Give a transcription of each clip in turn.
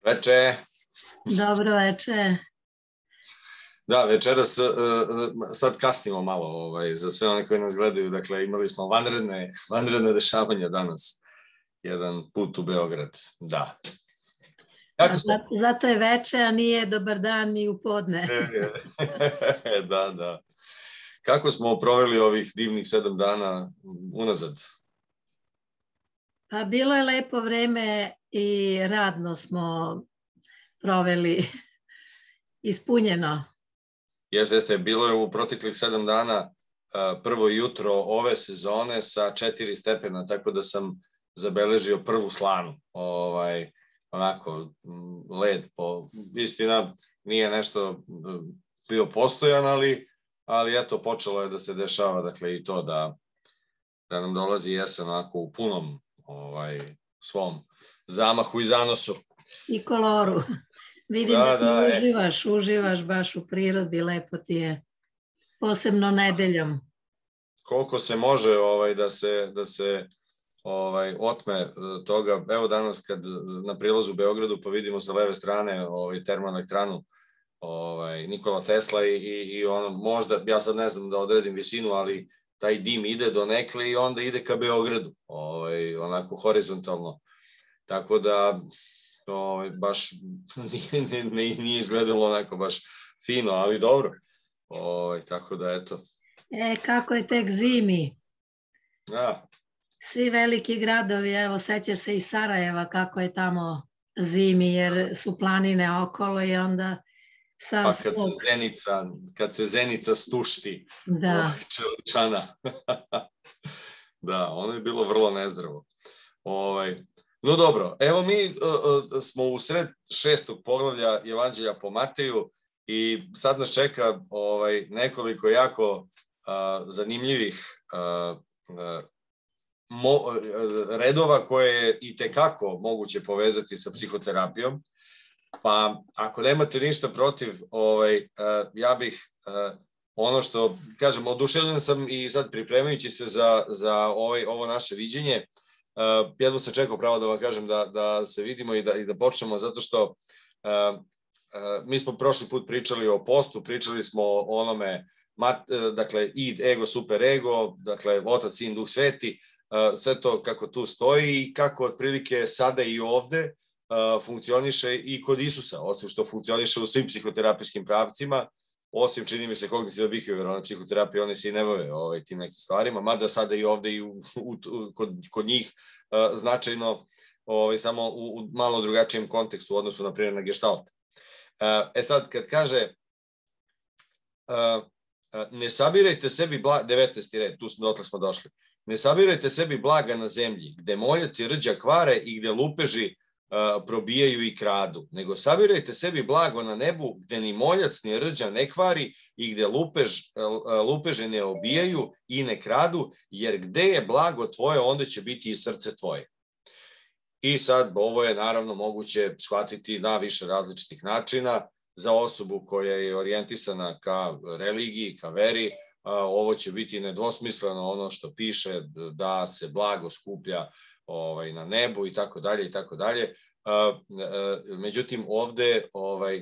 Veče. Dobro veče. Da, večeras sad kasnimo malo za sve one koji nas gledaju. Dakle, imali smo vanredne dešavanja danas. Jedan put u Beograd. Da. Zato je veče, a nije dobar dan ni u podne. Da. Kako smo proveli ovih divnih 7 dana unazad? Pa bilo je lepo vreme i radno smo proveli, ispunjeno. Jeste, bilo je u proteklih 7 dana prvo jutro ove sezone sa 4 stepena, tako da sam zabeležio prvu slanu. Onako, led, istina nije nešto bio postojan, ali eto, počelo je da se dešava, dakle, i to da nam dolazi jesen onako u punom svom zamahu i zanosu. I koloru. Vidim da uživaš baš u prirodi, lepo ti je, posebno nedeljom. Koliko se može da se otme toga. Evo danas kad na prilazu u Beogradu pa vidimo sa leve strane termoelektranu Nikola Tesla i ono možda, ja sad ne znam da odredim visinu, ali taj dim ide do nekle i onda ide ka Beogradu, onako horizontalno. Tako da baš nije izgledalo onako baš fino, ali dobro. Tako da eto. Kako je tek zimi. Da. Svi veliki gradovi, evo sećaš se i Sarajeva kako je tamo zimi jer su planine okolo i onda pa kad se Zenica stušti Čeličana. Da, ono je bilo vrlo nezdravo. No dobro, evo mi smo u sred 6. poglavlja Evanđelja po Mateju i sad nas čeka nekoliko jako zanimljivih redova koje je i tekako moguće povezati sa psihoterapijom. Pa ako nemate ništa protiv, ja bih ono što, kažem, oduševljen sam i sad pripremajući se za ovo naše viđenje, jedno sam čekao pravo da vam kažem da se vidimo i da počnemo, zato što mi smo prošli put pričali o postu, pričali smo o onome, dakle, id, ego, super ego, dakle, otac, sin, duh, sveti, sve to kako tu stoji i kako otprilike sada i ovde funkcioniše i kod Isusa, osim što funkcioniše u svim psihoterapijskim pravcima, osim, čini mi se, kognitivno-behavioralne psihoterapije, one se i ne bave tim nekim stvarima, mada sada i ovde i kod njih značajno, samo u malo drugačijem kontekstu u odnosu, na primjer, na gestalt. Sad, kad kaže ne sabirajte sebi 19. red, dotle smo došli, ne sabirajte sebi blaga na zemlji, gde moljac i rđa kvare i gde lupeži probijaju i kradu, nego sabirajte sebi blago na nebu, gde ni moljac ni rđa ne kvari i gde lupeže ne obijaju i ne kradu, jer gde je blago tvoje, onda će biti i srce tvoje. I sad, ovo je naravno moguće shvatiti na više različitih načina. Za osobu koja je orijentisana ka religiji, ka veri, ovo će biti nedvosmisleno ono što piše da se blago skuplja na nebu i tako dalje i tako dalje. Međutim, ovde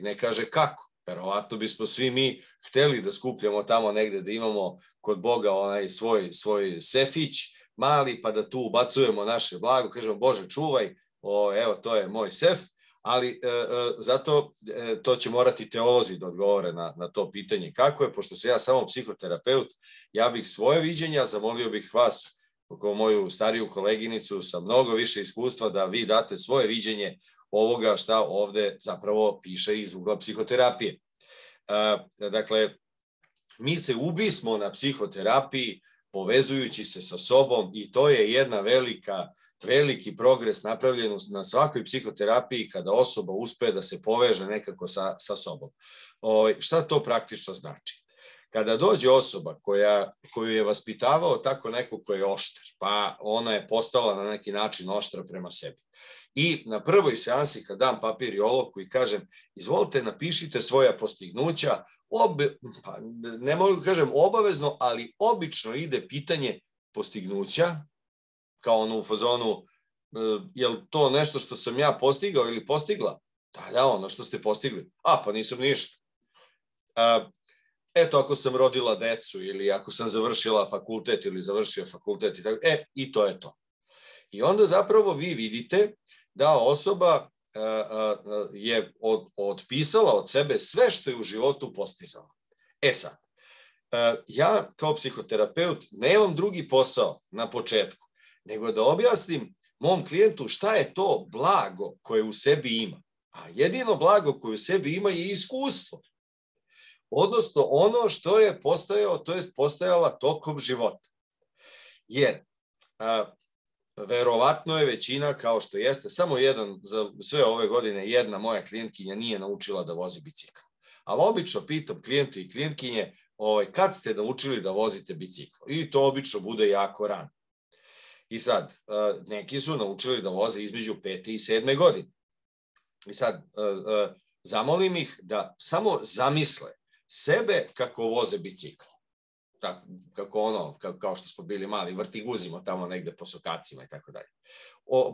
ne kaže kako. Verovatno bismo svi mi hteli da skupljamo tamo negde, da imamo kod Boga onaj svoj sefić mali, pa da tu ubacujemo naše blago, kažemo Bože čuvaj, evo to je moj sef, ali zato to će morati teolozi da odgovore na to pitanje kako je, pošto sam ja samo psihoterapeut, ja bih svoje viđenja, zamolio bih vas, kao moju stariju koleginicu sa mnogo više iskustva, da vi date svoje viđenje ovoga šta ovde zapravo piše iz ugla psihoterapije. Dakle, mi se ubismo na psihoterapiji povezujući se sa sobom i to je jedna veliki progres napravljen na svakoj psihoterapiji kada osoba uspe da se poveže nekako sa sobom. Šta to praktično znači? Kada dođe osoba koju je vaspitavao tako neko ko je oštar, pa ona je postala na neki način oštra prema sebi. I na prvoj seansi kad dam papir i olovku i kažem izvolite napišite svoja postignuća, ne mogu kažem obavezno, ali obično ide pitanje postignuća, kao ono u fazonu, je li to nešto što sam ja postigao ili postigla? Da, ono što ste postigli. Pa nisam ništa. Eto, ako sam rodila decu ili ako sam završila fakultet ili završio fakultet i tako, i to je to. I onda zapravo vi vidite da osoba je otpisala od sebe sve što je u životu postizala. Sad, ja kao psihoterapeut nemam drugi posao na početku, nego da objasnim mom klijentu šta je to blago koje u sebi ima. A jedino blago koje u sebi ima je iskustvo. Odnosno ono što je postojao, to je postojala tokom života. Jer verovatno je većina, kao što jeste, samo za sve ove godine jedna moja klijentkinja nije naučila da vozi bicikl. Ali obično pitam klijente i klijentkinje kad ste naučili da vozite bicikl. I to obično bude jako rano. I sad, neki su naučili da voze između 5. i 7. godine. I sad, zamolim ih da samo zamisle sebe kako voze bicikl. Kako kao što smo bili mali, vrtiguzimo tamo negde po sokacima i tako dalje.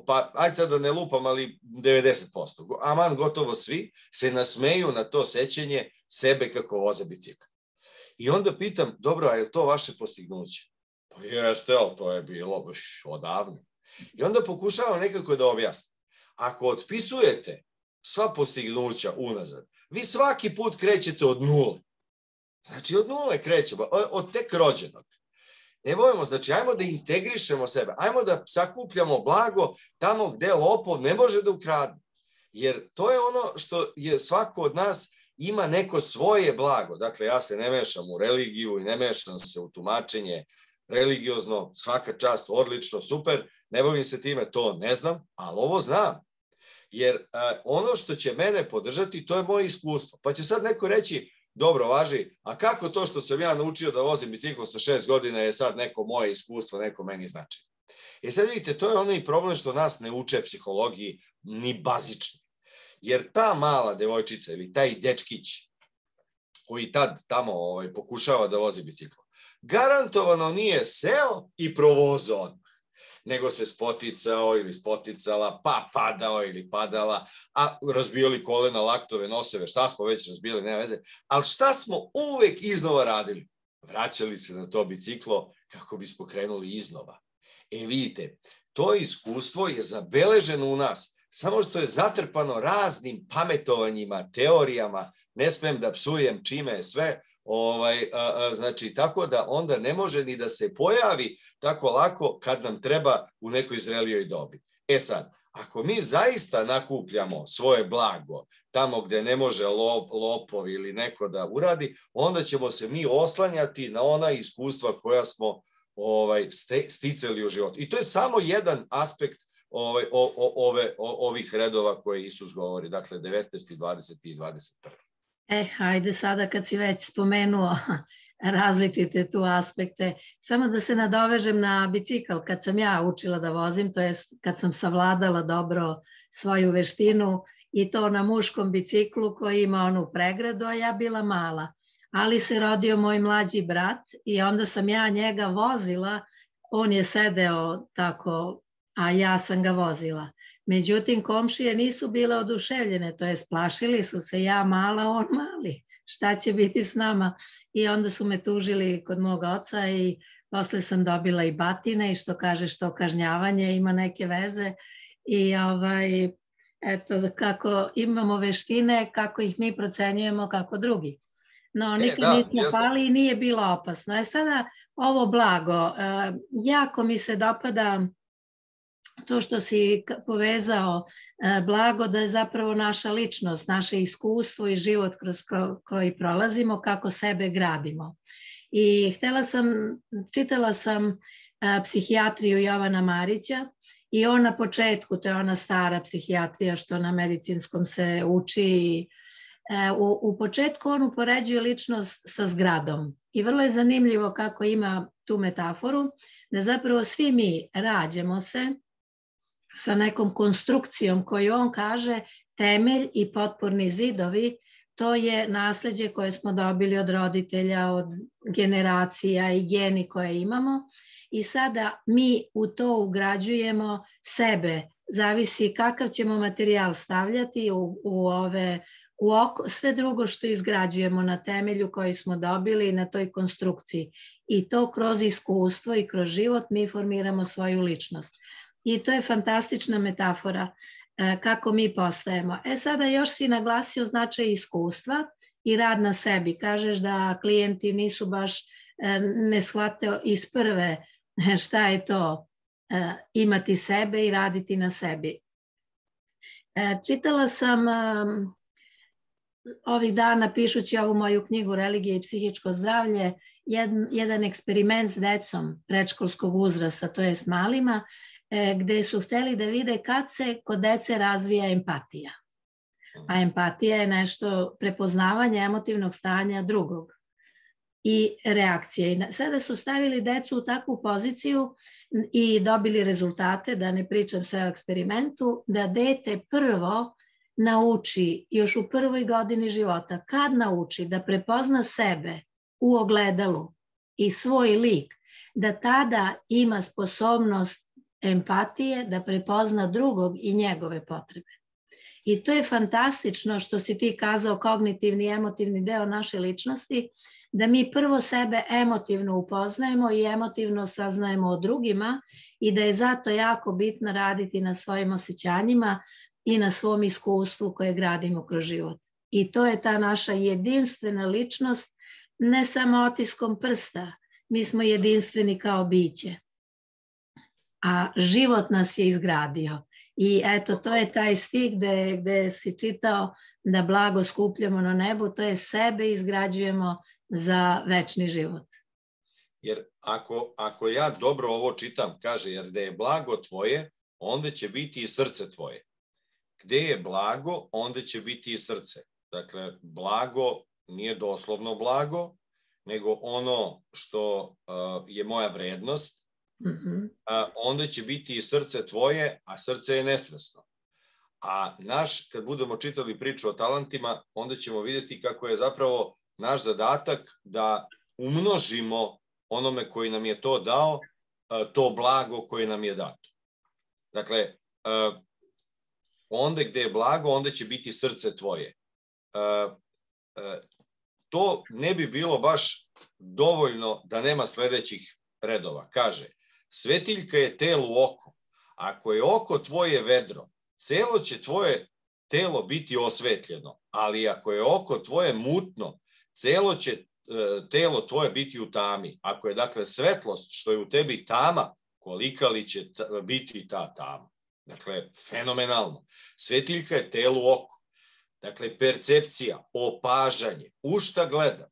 Pa, ajde sad da ne lupam, ali 90%. Aman, gotovo svi se nasmeju na to sećenje sebe kako voze bicikl. I onda pitam, dobro, a je to vaše postignuće? Pa jeste, ali to je bilo odavno. I onda pokušavam nekako da objasnim. Ako otpisujete sva postignuća unazad, vi svaki put krećete od nule. Znači, od nule krećemo, od tek rođenog. Ne bojimo, znači, ajmo da integrišemo sebe, ajmo da sakupljamo blago tamo gde lopov ne može da ukrade. Jer to je ono što je svako od nas ima neko svoje blago. Dakle, ja se ne mešam u religiju i ne mešam se u tumačenje religiozno, svaka čast, odlično, super, ne bavim se time, to ne znam, ali ovo znam. Jer ono što će mene podržati, to je moje iskustvo. Pa će sad neko reći, dobro, važi, a kako to što sam ja naučio da vozim bicikl sa 6 godina je sad neko moje iskustvo, neko meni znači. I sad vidite, to je onaj problem što nas ne uče psihologiji ni bazični. Jer ta mala devojčica ili taj dečkić koji tad tamo pokušava da vozi bicikl, garantovano nije seo i provozao odmah, nego se spoticao ili spoticala, pa padao ili padala, a razbijali kolena, laktove, noseve, šta smo već razbijali, nema veze, ali šta smo uvek iznova radili? Vraćali se na to biciklo kako bismo krenuli iznova. Vidite, to iskustvo je zabeleženo u nas, samo što je zatrpano raznim pametovanjima, teorijama, ne smem da psujem čime je sve, znači tako da onda ne može ni da se pojavi tako lako kad nam treba u nekoj zrelijoj dobi. Sad, ako mi zaista nakupljamo svoje blago tamo gde ne može lopov ili neko da uradi, onda ćemo se mi oslanjati na ona iskustva koja smo sticali u životu. I to je samo jedan aspekt ovih redova koje Isus govori, dakle 19. 20. i 21. Hajde sada kad si već spomenuo različite tu aspekte, samo da se nadovežem na bicikl. Kad sam ja učila da vozim, to jest kad sam savladala dobro svoju veštinu i to na muškom biciklu koji ima onu pregradu, a ja bila mala. Ali se rodio moj mlađi brat i onda sam ja njega vozila, on je sedeo tako, a ja sam ga vozila. Međutim, komšije nisu bile oduševljene, to jest plašili su se, ja mala, on mali, šta će biti s nama? I onda su me tužili kod mog oca i posle sam dobila i batine i što kaže što kažnjavanje ima neke veze i eto kako imamo veštine, kako ih mi procenjujemo kako drugi. No, nikad nismo pali i nije bilo opasno. Sada ovo blago, jako mi se dopada to što si povezao blago da je zapravo naša ličnost, naše iskustvo i život kroz koji prolazimo, kako sebe gradimo. I čitala sam psihijatriju Jovana Marića i on na početku, to je ona stara psihijatrija što na medicinskom se uči, u početku on upoređuje ličnost sa zgradom. I vrlo je zanimljivo kako ima tu metaforu, da zapravo svi mi rađamo se sa nekom konstrukcijom koju on kaže temelj i potporni zidovi, to je nasleđe koje smo dobili od roditelja, od generacija i geni koje imamo i sada mi u to ugrađujemo sebe zavisi kakav ćemo materijal stavljati u oko, sve drugo što izgrađujemo na temelju koji smo dobili na toj konstrukciji. I to kroz iskustvo i kroz život mi formiramo svoju ličnost. I to je fantastična metafora kako mi postajemo. Sada još si naglasio značaj iskustva i rad na sebi. Kažeš da klijenti nisu baš ne shvate iz prve šta je to imati sebe i raditi na sebi. Čitala sam ovih dana, pišući ovu moju knjigu Religija i psihičko zdravlje, jedan eksperiment s decom predškolskog uzrasta, to jest malima, gde su hteli da vide kad se kod dece razvija empatija. A empatija je nešto prepoznavanje emotivnog stanja drugog i reakcije. Sada su stavili decu u takvu poziciju i dobili rezultate, da ne pričam sve o eksperimentu, da dete prvo nauči još u prvoj godini života, kad nauči da prepozna sebe u ogledalu i svoj lik, da tada ima sposobnost empatije, da prepozna drugog i njegove potrebe. I to je fantastično što si ti kazao, kognitivni i emotivni deo naše ličnosti, da mi prvo sebe emotivno upoznajemo i emotivno saznajemo o drugima i da je zato jako bitno raditi na svojim osjećanjima i na svom iskustvu koje gradimo kroz život. I to je ta naša jedinstvena ličnost, ne samo otiskom prsta, mi smo jedinstveni kao biće. A život nas je izgradio. I eto, to je taj stih gde si čitao da blago skupljamo na nebu, to je sebe izgrađujemo za večni život. Jer ako ja dobro ovo čitam, kaže, jer da je blago tvoje, onda će biti i srce tvoje. Gde je blago, onda će biti i srce. Dakle, blago nije doslovno blago, nego ono što je moja vrednost, onda će biti i srce tvoje, a srce je nesvesno. A kad budemo čitali priču o talentima, onda ćemo vidjeti kako je zapravo naš zadatak da umnožimo onome koji nam je to dao, to blago koje nam je dato. Dakle, onda gde je blago, onda će biti srce tvoje. To ne bi bilo baš dovoljno da nema sledećih redova. Kaže, svetiljka je telu oko. Ako je oko tvoje vedro, celo će tvoje telo biti osvetljeno, ali ako je oko tvoje mutno, celo će telo tvoje biti u tami. Ako je dakle svetlost što je u tebi tama, kolika li će biti ta tama. Dakle, fenomenalno. Svetiljka je telu oko. Dakle, percepcija, opažanje, u šta gledam?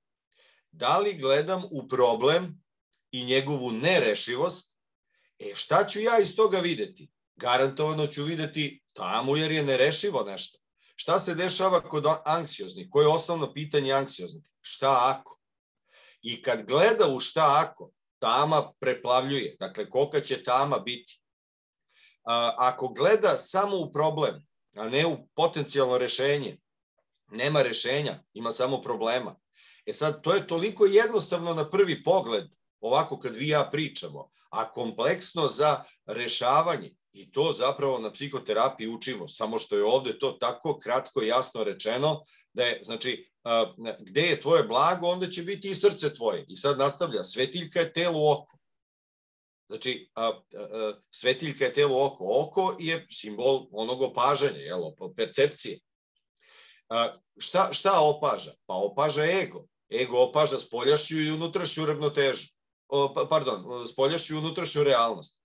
Da li gledam u problem i njegovu nerešivost? Šta ću ja iz toga videti? Garantovano ću videti tamo jer je nerešivo nešto. Šta se dešava kod anksioznih? Koje je osnovno pitanje anksioznih? Šta ako? I kad gleda u šta ako, tama preplavljuje. Dakle, kolika će tama biti? Ako gleda samo u problem, a ne u potencijalno rešenje, nema rešenja, ima samo problema. Sad, to je toliko jednostavno na prvi pogled, ovako kad vi i ja pričamo, a kompleksno za rešavanje. I to zapravo na psihoterapiji učimo, samo što je ovde to tako kratko i jasno rečeno, da je, znači, gde je tvoje blago, onda će biti i srce tvoje. I sad nastavlja, svetiljka je telu oko. Znači, svetiljka je telu oko. Oko je simbol onog opažanja, percepcije. Šta opaža? Pa opaža ego. Ego opaža spoljašnju i unutrašnju ravnotežu. Pardon, spoljašnju i unutrašnju realnost.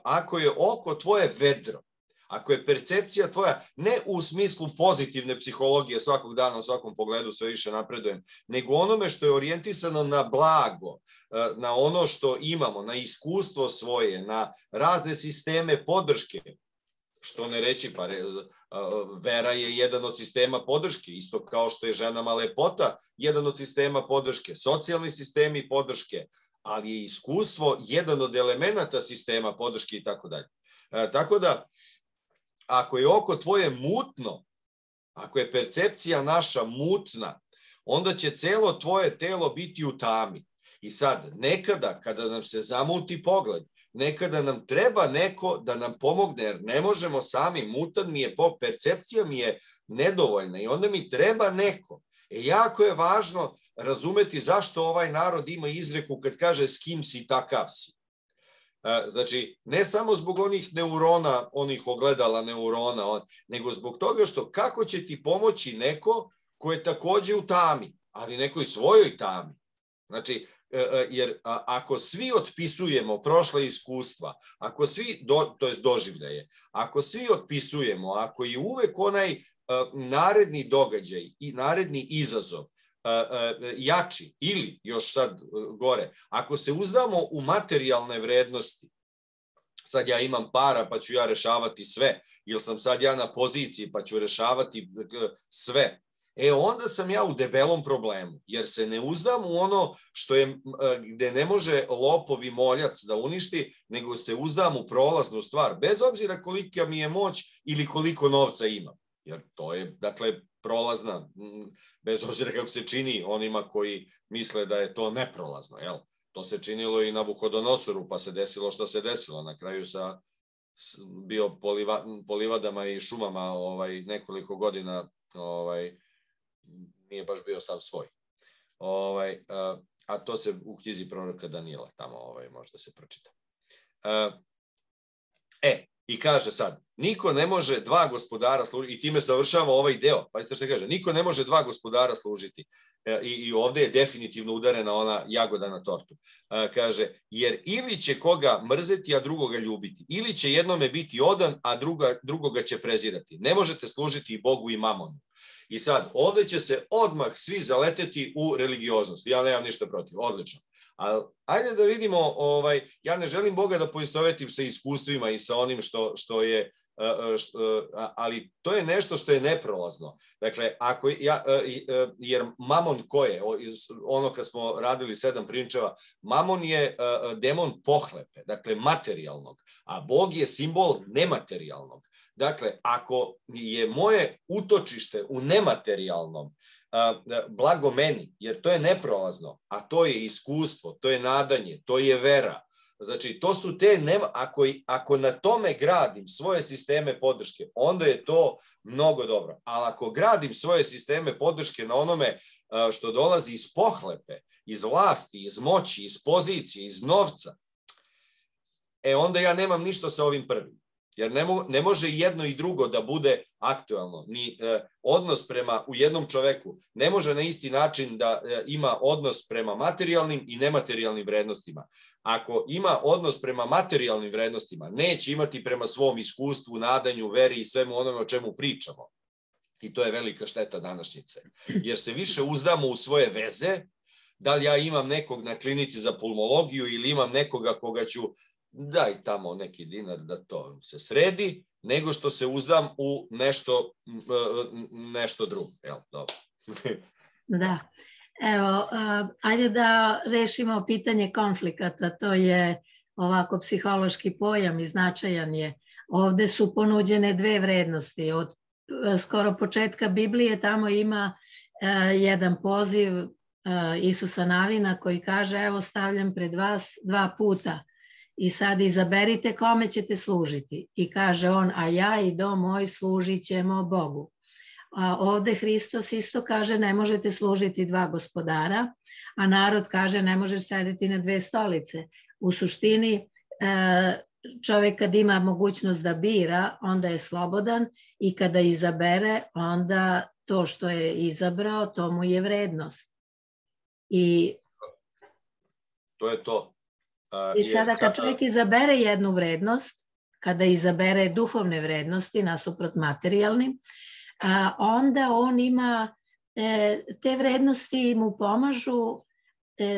Ako je oko tvoje vedro, ako je percepcija tvoja, ne u smislu pozitivne psihologije svakog dana, u svakom pogledu sve više napredujem, nego onome što je orijentisano na blago, na ono što imamo, na iskustvo svoje, na razne sisteme podrške, što ne reći, pa vera je jedan od sistema podrške, isto kao što je ženama lepota jedan od sistema podrške, socijalni sistemi podrške, ali je iskustvo jedan od elemenata sistema podrške i tako dalje. Tako da, ako je oko tvoje mutno, ako je percepcija naša mutna, onda će celo tvoje telo biti u tami. I sad, nekada, kada nam se zamuti pogled, nekada nam treba neko da nam pomogne, jer ne možemo sami, mutan mi je, percepcija mi je nedovoljna i onda mi treba neko. Jako je važno razumeti zašto ovaj narod ima izreku kad kaže s kim si, takav si. Znači, ne samo zbog onih neurona, onih ogledala neurona, nego zbog toga što kako će ti pomoći neko ko je takođe u tami, ali nekoj svojoj tami. Znači, jer ako svi otpisujemo prošle iskustva, ako svi, to jest doživljaje, ako svi otpisujemo, ako je uvek onaj naredni događaj i naredni izazov jači ili još sad gore, ako se uzdamo u materijalne vrednosti, sad ja imam para pa ću ja rešavati sve, ili sam sad ja na poziciji pa ću rešavati sve, onda sam ja u debelom problemu, jer se ne uzdam u ono što je, gde ne može lopov i moljac da uništi, nego se uzdam u prolaznu stvar, bez obzira kolika mi je moć ili koliko novca imam. Jer to je, dakle, prolazna, bez obzira kako se čini onima koji misle da je to neprolazno, jel? To se činilo i na Nabukodonosoru, pa se desilo što se desilo. Na kraju bio po livadama i šumama nekoliko godina, nije baš bio sav svoj. A to se u knjizi proroka Danijela tamo možda se pročita. I kaže sad, niko ne može dva gospodara služiti, i time završava ovaj deo, pa isto što kaže, niko ne može dva gospodara služiti. I ovde je definitivno udarena ona jagoda na tortu. Kaže, jer ili će koga mrzeti, a drugoga ljubiti, ili će jednome biti odan, a drugoga će prezirati. Ne možete služiti i Bogu i mamonu. I sad, ovde će se odmah svi zaleteti u religioznost. Ja nemam ništa protiv, odlično. Ali ajde da vidimo, ja ne želim Boga da poistovetim sa iskustvima i sa onim što je, ali to je nešto što je neprolazno. Dakle, jer mamon ko je? Ono kad smo radili 7 prinčeva, mamon je demon pohlepe, dakle materijalnog, a Bog je simbol nematerijalnog. Dakle, ako je moje utočište u nematerijalnom, blago meni, jer to je neprolazno, a to je iskustvo, to je nadanje, to je vera. Znači, to su te, ako na tome gradim svoje sisteme podrške, onda je to mnogo dobro. Ali ako gradim svoje sisteme podrške na onome što dolazi iz pohlepe, iz vlasti, iz moći, iz pozicije, iz novca, onda ja nemam ništa sa ovim prvim. Jer ne može jedno i drugo da bude aktuelno. Ni odnos u jednom čoveku ne može na isti način da ima odnos prema materijalnim i nematerijalnim vrednostima. Ako ima odnos prema materijalnim vrednostima, neće imati prema svom iskustvu, nadanju, veri i svemu onome o čemu pričamo. I to je velika šteta današnjice. Jer se više uzdamo u svoje veze, da li ja imam nekog na klinici za pulmologiju ili imam nekoga koga ću daj tamo neki dinar da to se sredi, nego što se uzdam u nešto drugo. Evo, dobro. Da. Evo, ajde da rešimo pitanje konflikata. To je ovako psihološki pojam i značajan je. Ovde su ponuđene dve vrednosti. Od skoro početka Biblije tamo ima jedan poziv Isusa Navina koji kaže, evo stavljam pred vas 2 puta. I sad izaberite kome ćete služiti. I kaže on, a ja i dom moj služit ćemo Bogu. A ovde Hristos isto kaže, ne možete služiti 2 gospodara, a narod kaže, ne možeš sedeti na 2 stolice. U suštini, čovjek kad ima mogućnost da bira, onda je slobodan i kada izabere, onda to što je izabrao, to mu je vrednost. I to je to. I sada kad čovjek izabere jednu vrednost, kada izabere duhovne vrednosti nasuprot materijalnim, onda on ima, te vrednosti mu pomažu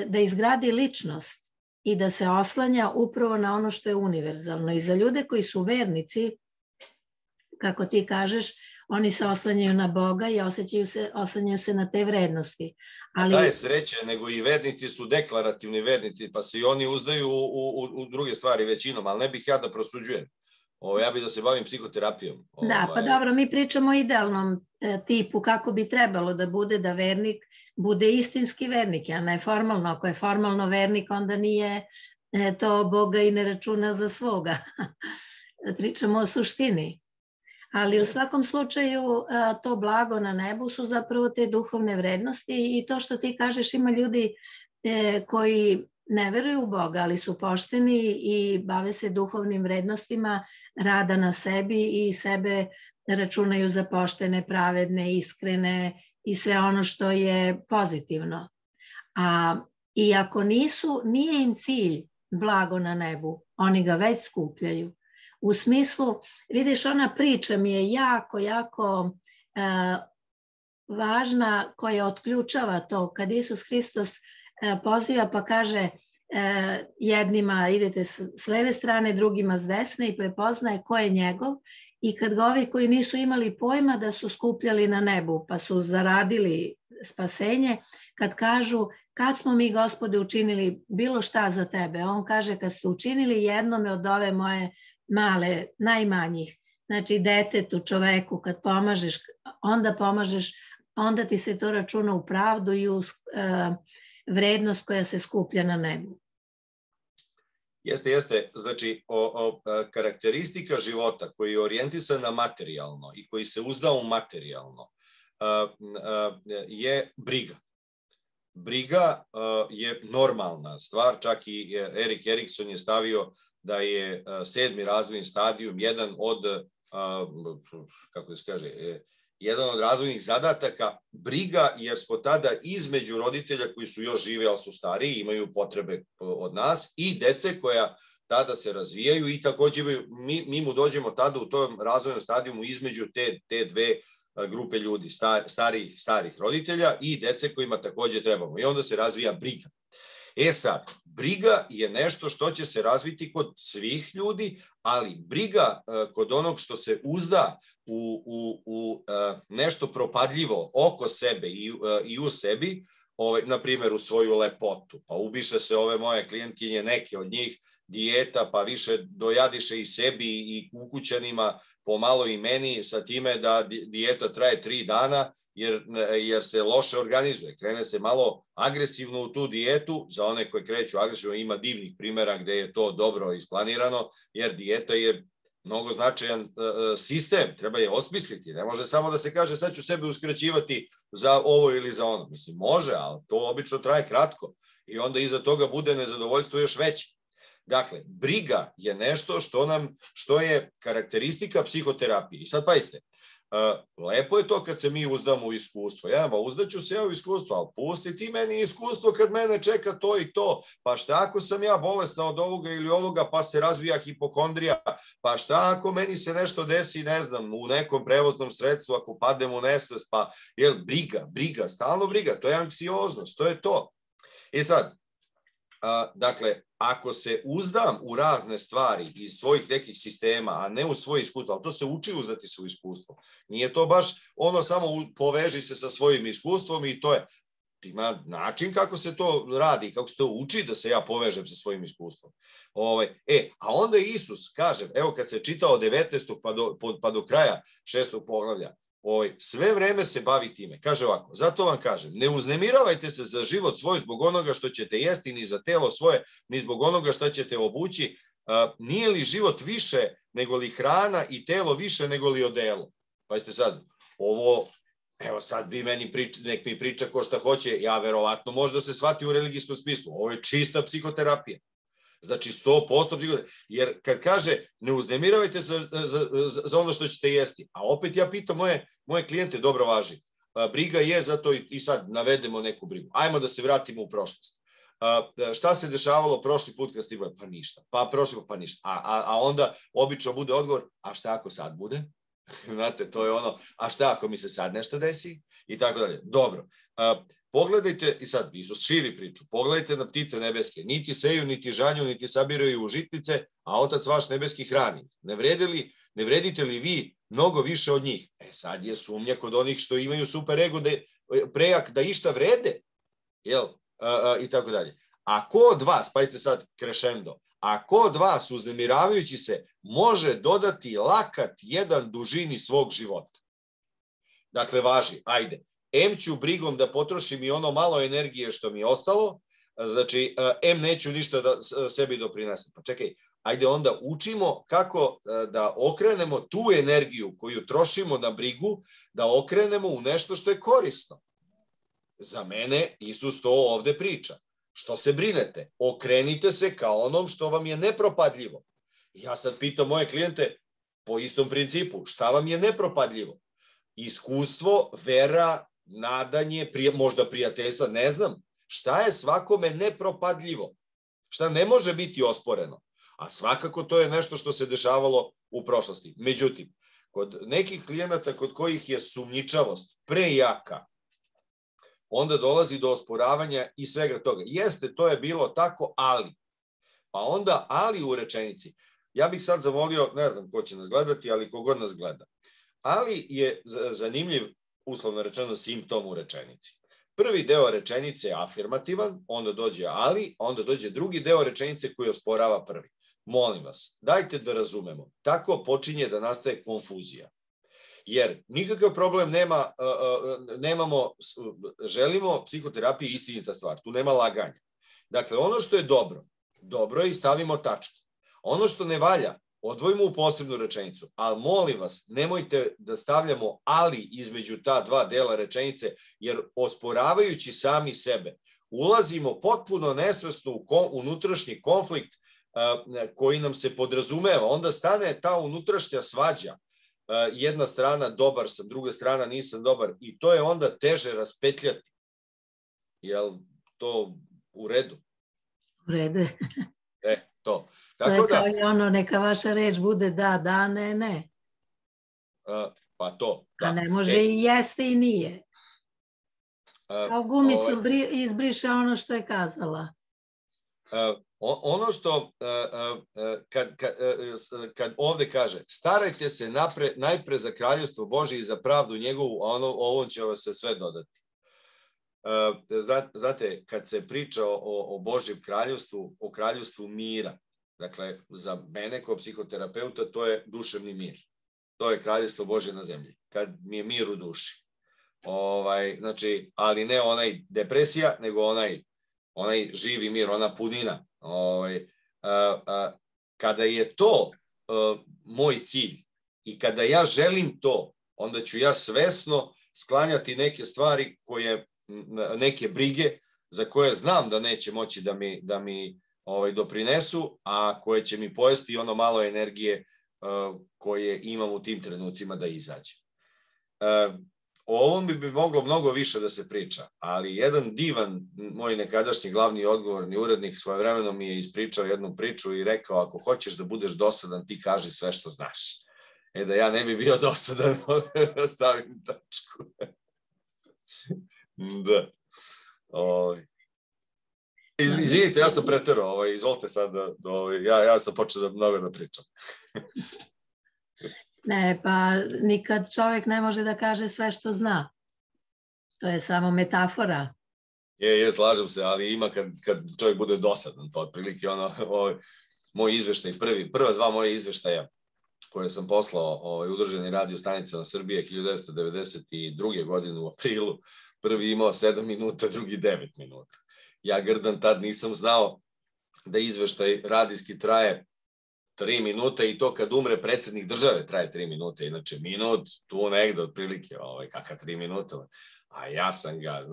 da izgradi ličnost i da se oslanja upravo na ono što je univerzalno. I za ljude koji su vernici, kako ti kažeš, oni se oslanjaju na Boga i oslanjaju se na te vrednosti. Da je sreće, nego i vernici su deklarativni vernici, pa se i oni uzdaju u druge stvari većinom, ali ne bih ja da prosuđujem. Ja bih da se bavim psihoterapijom. Da, pa dobro, mi pričamo o idealnom tipu kako bi trebalo da bude, da vernik bude istinski vernik, a ne formalno. Ako je formalno vernik, onda nije to Boga i ne računa za svoga. Pričamo o suštini. Ali u svakom slučaju to blago na nebu su zapravo te duhovne vrednosti i to što ti kažeš, ima ljudi koji ne veruju u Boga, ali su pošteni i bave se duhovnim vrednostima rada na sebi i sebe računaju za poštene, pravedne, iskrene i sve ono što je pozitivno. I ako nije im cilj blago na nebu, oni ga već skupljaju. U smislu, vidiš, ona priča mi je jako važna koja otključava to. Kad Isus Hristos poziva pa kaže jednima idete s leve strane, drugima s desne i prepoznaje ko je njegov. I kad ga ovi koji nisu imali pojma da su skupljali na nebu pa su zaradili spasenje, kad kažu kad smo mi, Gospode, učinili bilo šta za tebe, on kaže kad ste učinili jednome od ove moje male, najmanjih, znači detetu, čoveku, kad pomažeš, onda ti se to računa u pravdu i u vrednost koja se skuplja na nebu. Jeste. Znači, karakteristika života koji je orijentisan na materijalno i koji se uzda u materijalno je briga. Briga je normalna stvar, čak i Erik Erikson je stavio da je 7. razvojni stadijum jedan od, kako se kaže, jedan od razvojnih zadataka briga, jer smo tada između roditelja koji su još žive, ali su stariji, imaju potrebe od nas, i dece koja tada se razvijaju i takođe mi mu dođemo tada u tom razvojnom stadijumu između te dve grupe ljudi, starih roditelja i dece kojima takođe trebamo. I onda se razvija briga. Sad, briga je nešto što će se razviti kod svih ljudi, ali briga kod onog što se uzda u nešto propadljivo oko sebe i u sebi, na primjer u svoju lepotu, pa ubiše se ove moje klijentkinje, neke od njih, dijeta, pa više dojadiše i sebi i ukućanima, pomalo i meni, sa time da dijeta traje 3 dana, jer se loše organizuje. Krene se malo agresivno u tu dijetu, za one koje kreću agresivno ima divnih primjera gde je to dobro isplanirano, jer dijeta je mnogo značajan sistem, treba je osmisliti, ne može samo da se kaže sad ću sebe uskraćivati za ovo ili za ono. Mislim, može, ali to obično traje kratko i onda iza toga bude nezadovoljstvo još veće. Dakle, briga je nešto što je karakteristika psihoterapije. I sad pazite, lepo je to kad se mi uzdamo u iskustvo. Uzdaću se ja u iskustvo, ali pusti ti meni iskustvo kad mene čeka to i to. Pa šta ako sam ja bolesna od ovoga ili ovoga, pa se razvija hipokondrija? Pa šta ako meni se nešto desi, ne znam, u nekom prevoznom sredstvu, ako padem u nesvest, pa briga, stalno briga, to je anksioznost, to je to. I sad, dakle, ako se uzdam u razne stvari iz svojih nekih sistema, a ne u svoje iskustvo, ali to se uči uzdati se u iskustvo. Nije to baš ono samo poveži se sa svojim iskustvom i to je. Ima način kako se to radi, kako se to uči da se ja povežem sa svojim iskustvom. A onda Isus kaže, evo kad se čita od 19. pa do kraja 6. poglavlja, sve vreme se bavi time. Kaže ovako, zato vam kažem, ne uznemiravajte se za život svoj zbog onoga što ćete jesti, ni za telo svoje, ni zbog onoga što ćete obući. Nije li život više nego li hrana i telo više nego li odelo? Pazite sad, ovo, evo sad vi meni nek mi priča ko šta hoće, ja verovatno možda se shvati u religijskom smislu. Ovo je čista psihoterapija. Znači 100% psihoterapija. Jer kad kaže ne uznemiravajte se za ono što ćete jesti, a opet ja pitam moje klijente, dobro važi, briga je zato i sad navedemo neku brigu. Ajmo da se vratimo u prošlost. Šta se dešavalo prošli put kad ste imali? Pa ništa. Pa prošli put, pa ništa. A onda obično bude odgovor, a šta ako sad bude? Znate, to je ono, a šta ako mi se sad nešto desi? I tako dalje. Dobro. Pogledajte, i sad Isus širi priču, pogledajte na ptice nebeske, niti seju, niti žanju, niti sabiraju u žitnice, a Otac vaš nebeski hrani. Ne vredite li vi mnogo više od njih? Sad je sumnja kod onih što imaju super ego prejak da išta vrede, jel? I tako dalje. A ko od vas, pazite sad krešendo, a ko od vas uznemiravajući se može dodati lakat jedan dužini svog života? Dakle, važi, ajde, ću brigom da potrošim i ono malo energije što mi je ostalo, Znači, neću ništa da sebi doprinesem. Pa čekaj, ajde onda učimo kako da okrenemo tu energiju koju trošimo na brigu, da okrenemo u nešto što je korisno. Za mene Isus to ovde priča. Što se brinete? Okrenite se kao onom što vam je nepropadljivo. Ja sad pitam moje klijente po istom principu, šta vam je nepropadljivo? Iskustvo, vera, nadanje, možda prijateljstva, ne znam. Šta je svakome nepropadljivo? Šta ne može biti osporeno? A svakako to je nešto što se dešavalo u prošlosti. Međutim, kod nekih klijenata kod kojih je sumnjičavost prejaka, onda dolazi do osporavanja i svega toga. Jeste, to je bilo tako, ali. Pa onda ali u rečenici. Ja bih sad zamolio, ne znam ko će nas gledati, ali kogod nas gleda. Ali je zanimljiv, uslovno rečeno, simptom u rečenici. Prvi deo rečenice je afirmativan, onda dođe ali, onda dođe drugi deo rečenice koji osporava prvi. Molim vas, dajte da razumemo. Tako počinje da nastaje konfuzija. Jer nikakav problem nemamo, želimo psihoterapiju istinita stvar, tu nema laganja. Dakle, ono što je dobro, dobro je i stavimo tačku. Ono što ne valja, odvojimo u posebnu rečenicu, ali molim vas, nemojte da stavljamo ali između ta dva dela rečenice, jer osporavajući sami sebe, ulazimo potpuno nesvesno u unutrašnji konflikt koji nam se podrazumeva. Onda stane ta unutrašnja svađa. Jedna strana dobar sam, druga strana nisam dobar i to je onda teže raspetljati. Jel to u redu? U redu. To. To je kao i ono, neka vaša reč bude da, da, ne, ne. Pa to, da. A ne može i jeste i nije. Kao gumicom izbriše ono što je kazala. Ono što, kad ovde kaže, starajte se najpre za kraljevstvo Božje i za pravdu njegovu, a ovom će vas se sve dodati. Znate, kad se priča o Božjem kraljevstvu, o kraljevstvu mira, dakle, za mene kao psihoterapeuta to je duševni mir. To je kraljevstvo Božje na zemlji, kad mi je mir u duši. Znači, ali ne onaj depresija, nego onaj živi mir, ona punina. Kada je to moj cilj i kada ja želim to, onda ću ja svesno sklanjati neke stvari neke brige za koje znam da neće moći da mi doprinesu, a koje će mi pojesti ono malo energije koje imam u tim trenucima da izađe. O ovom bi moglo mnogo više da se priča, ali jedan divan, moj nekadašnji glavni odgovorni urednik svojevremeno mi je ispričao jednu priču i rekao, ako hoćeš da budeš dosadan, ti kaži sve što znaš. Da ja ne bi bio dosadan, da stavim tačku. Da. Izvinite, ja sam preterao, izvolite sad, ja sam počeo da mnogo da pričam. Ne, pa nikad čovjek ne može da kaže sve što zna. To je samo metafora. Slažem se, ali ima kad čovjek bude dosadan, pa otprilike moj izveštaj, prva dva moje izveštaja koje sam poslao Udruženoj radio stanicama Srbije 1992. godine u aprilu, prvi imao 7 minuta, drugi 9 minuta. Ja grdan tad nisam znao da izveštaj radijski traje 3 minuta i to kad umre predsjednik države traje 3 minuta, inače minut tu negde otprilike, kaka 3 minuta, a ja sam ga,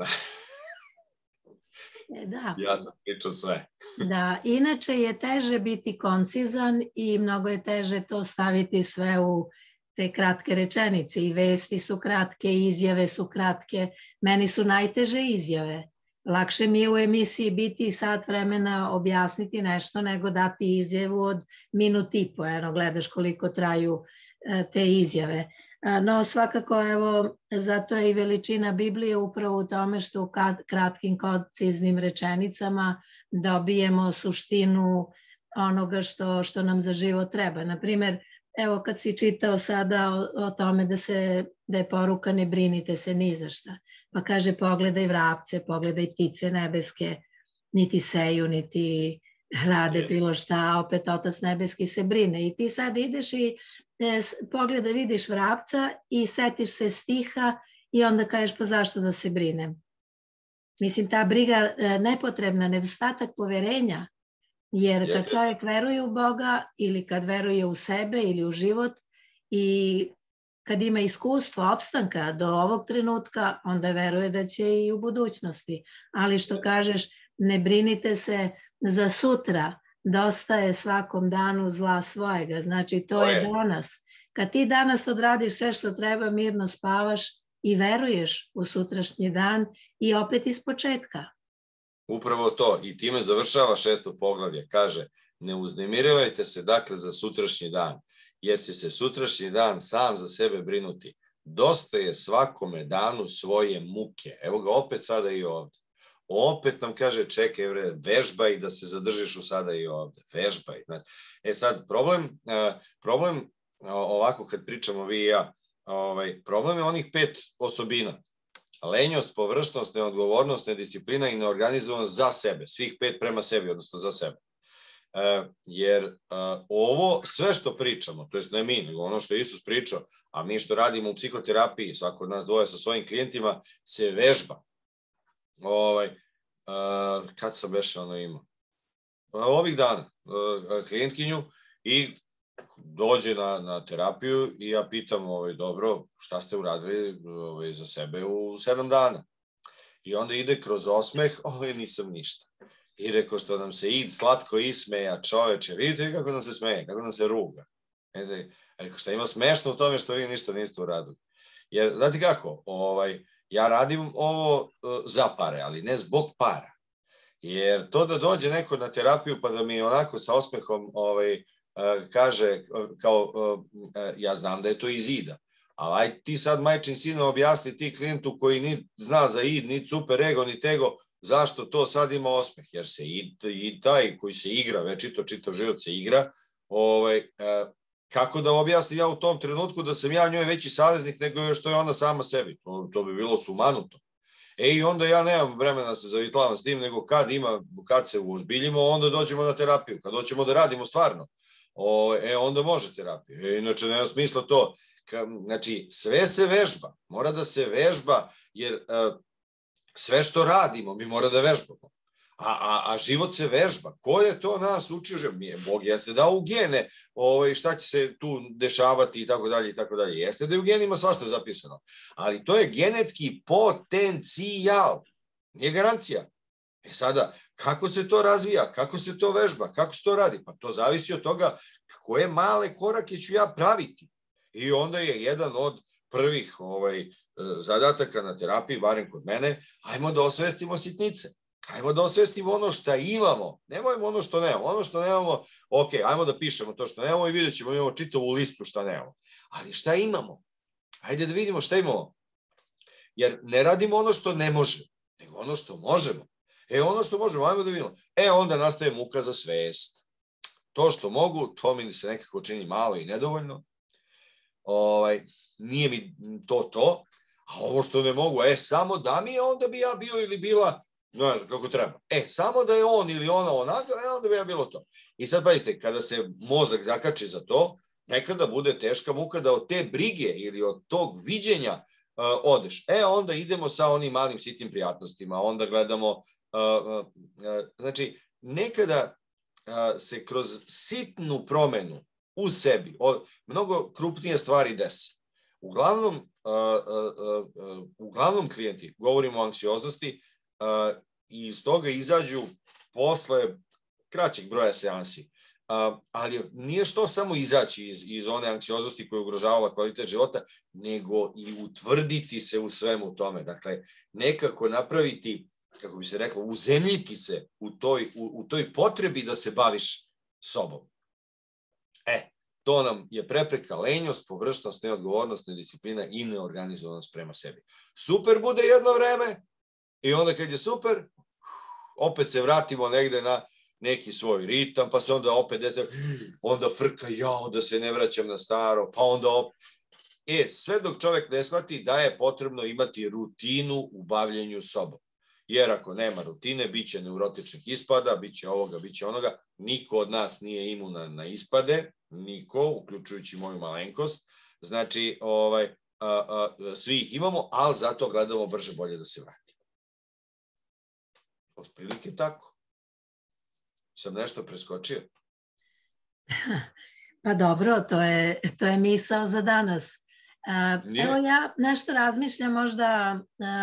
ja sam pričao sve. Da, inače je teže biti koncizan i mnogo je teže to staviti sve u te kratke rečenice i vesti su kratke, izjave su kratke, meni su najteže izjave. Lakše mi je u emisiji biti sat vremena objasniti nešto nego dati izjavu od minut i po. Gledaš koliko traju te izjave. No svakako, zato je i veličina Biblije upravo u tome što u kratkim konciznim rečenicama dobijemo suštinu onoga što nam za život treba. Naprimer, evo kad si čitao sada o tome da je poruka ne brinite se ni za šta. Pa kaže pogledaj vrapce, pogledaj ptice nebeske, niti seju, niti rade bilo šta, a opet Otac nebeski se brine. I ti sad ideš i pogledaj, vidiš vrapca i setiš se stiha i onda kažeš pa zašto da se brinem? Mislim, ta briga nepotrebna, nedostatak poverenja, jer kad čovjek veruje u Boga ili kad veruje u sebe ili u život i kad ima iskustvo opstanka do ovog trenutka, onda veruje da će i u budućnosti. Ali što kažeš, ne brinite se za sutra, dosta je svakom danu zla svojega. Znači, to je danas. Kad ti danas odradiš sve što treba, mirno spavaš i veruješ u sutrašnji dan i opet iz početka. Upravo to. I time završava 6. poglavlje. Kaže, ne uznemirivajte se dakle za sutrašnji dan, jer će se sutrašnji dan sam za sebe brinuti. Dosta je svakome danu svoje muke. Evo ga opet sada i ovde. Opet nam kaže, čekaj, vežbaj da se zadržiš u sada i ovde. Vežbaj. Sad, problem ovako kad pričamo vi i ja, problem je onih 5 osobina. Lenjost, površnost, neodgovornost, nedisciplina i neorganizovanost za sebe. Svih 5 prema sebi, odnosno za sebe. Jer ovo sve što pričamo, to jest ne mi, nego ono što je Isus pričao, a mi što radimo u psihoterapiji, svako od nas dvoje sa svojim klijentima, se vežba. Kad sam beše ono imao? Ovih dana klijentkinju i dođe na terapiju i ja pitam, dobro, šta ste uradili za sebe u 7 dana? I onda ide kroz osmeh, nisam ništa. I rekao što nam se slatko ismeja, čoveče, vidite kako nam se smeje, kako nam se ruga. Rekao šta ima smešno u tome što vi ništa niste uradili. Jer, znate kako, ja radim ovo za pare, ali ne zbog para. Jer to da dođe neko na terapiju pa da mi onako sa osmehom kaže kao, ja znam da je to iz ida, ali aj ti sad majčin sine objasni ti klijentu koji ni zna za id, ni super ego, ni tego, zašto to sad ima osmeh, jer se i taj koji se igra, večito čitav život se igra, kako da objasnim ja u tom trenutku da sam ja njoj veći saveznik nego što je ona sama sebi, to bi bilo sumanuto. I onda ja nemam vremena da se zavitlavam s tim, nego kad se uozbiljimo, onda dođemo na terapiju, kad doćemo da radimo stvarno, onda može terapija. Inače, nema smisla to. Znači, sve se vežba, mora da se vežba, jer sve što radimo, mi mora da vežbamo. A život se vežba. Ko je to nas učio? Bog jeste dao u gene šta će se tu dešavati i tako dalje i tako dalje. Jeste da je u genima svašta zapisano. Ali to je genetski potencijal. Nije garancija. Sada, kako se to razvija? Kako se to vežba? Kako se to radi? Pa to zavisi od toga koje male korake ću ja praviti. I onda je jedan od prvih zadataka na terapiji, barem kod mene, ajmo da osvestimo sitnice. Ajmo da osvestimo ono što imamo. Nemojmo ono što nemamo. Ono što nemamo, ok, ajmo da pišemo to što nemamo i vidjet ćemo, imamo čitavu listu šta nemamo. Ali šta imamo? Ajde da vidimo šta imamo. Jer ne radimo ono što ne može, nego ono što možemo. Ono što možemo, ajmo da vidimo. Onda nastaje muka za svest. To što mogu, to mi se nekako čini malo i nedovoljno. Nije mi to. A ovo što ne mogu, samo da mi je, onda bi ja bio ili bila, ne znam kako treba. Samo da je on ili ona onako, onda bi ja bilo to. I sad pazite, kada se mozak zakači za to, nekada bude teška muka da od te brige ili od tog viđenja odeš. Onda idemo sa onim malim sitnim prijatnostima, onda gledamo, znači, nekada se kroz sitnu promenu u sebi, mnogo krupnije stvari dese. Uglavnom klijenti, govorimo o anksioznosti, i iz toga izađu posle kraćeg broja seansi. Ali nije što samo izaći iz one anksioznosti koja ugrožava kvalitet života, nego i utvrditi se u svemu tome. Dakle, nekako napraviti, kako bi se reklo, uzemljiti se u toj potrebi da se baviš sobom. To nam je prepreka lenjost, površnost, neodgovornost, nedisciplina i neorganizovanost prema sebi. Super bude jedno vreme i onda kad je super, opet se vratimo negde na neki svoj ritam, pa se onda opet onda frka, da se ne vraćam na staro, pa onda opet. Sve dok čovek ne shvati da je potrebno imati rutinu u bavljenju sobom. Jer ako nema rutine, bit će neurotičnih ispada, bit će ovoga, bit će onoga. Niko od nas nije imunan na ispade, niko, uključujući moju malenkost. Znači, svi ih imamo, ali zato gledamo brže bolje da se vrati. Otprilike tako. Sam nešto preskočio. Pa dobro, to je misao za danas. Evo ja nešto razmišljam možda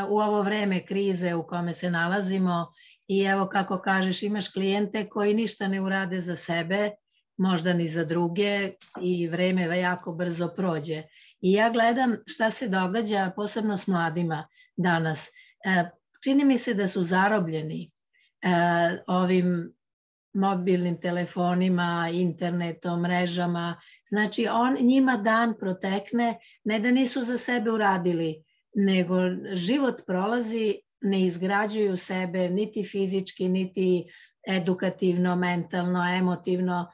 u ovo vreme krize u kome se nalazimo i evo kako kažeš imaš klijente koji ništa ne urade za sebe, možda ni za druge i vreme jako brzo prođe. I ja gledam šta se događa posebno s mladima danas. Čini mi se da su zarobljeni ovim mobilnim telefonima, internetom, mrežama. Znači, njima dan protekne, ne da nisu za sebe uradili, nego život prolazi, ne izgrađuju sebe niti fizički, niti edukativno, mentalno, emotivno.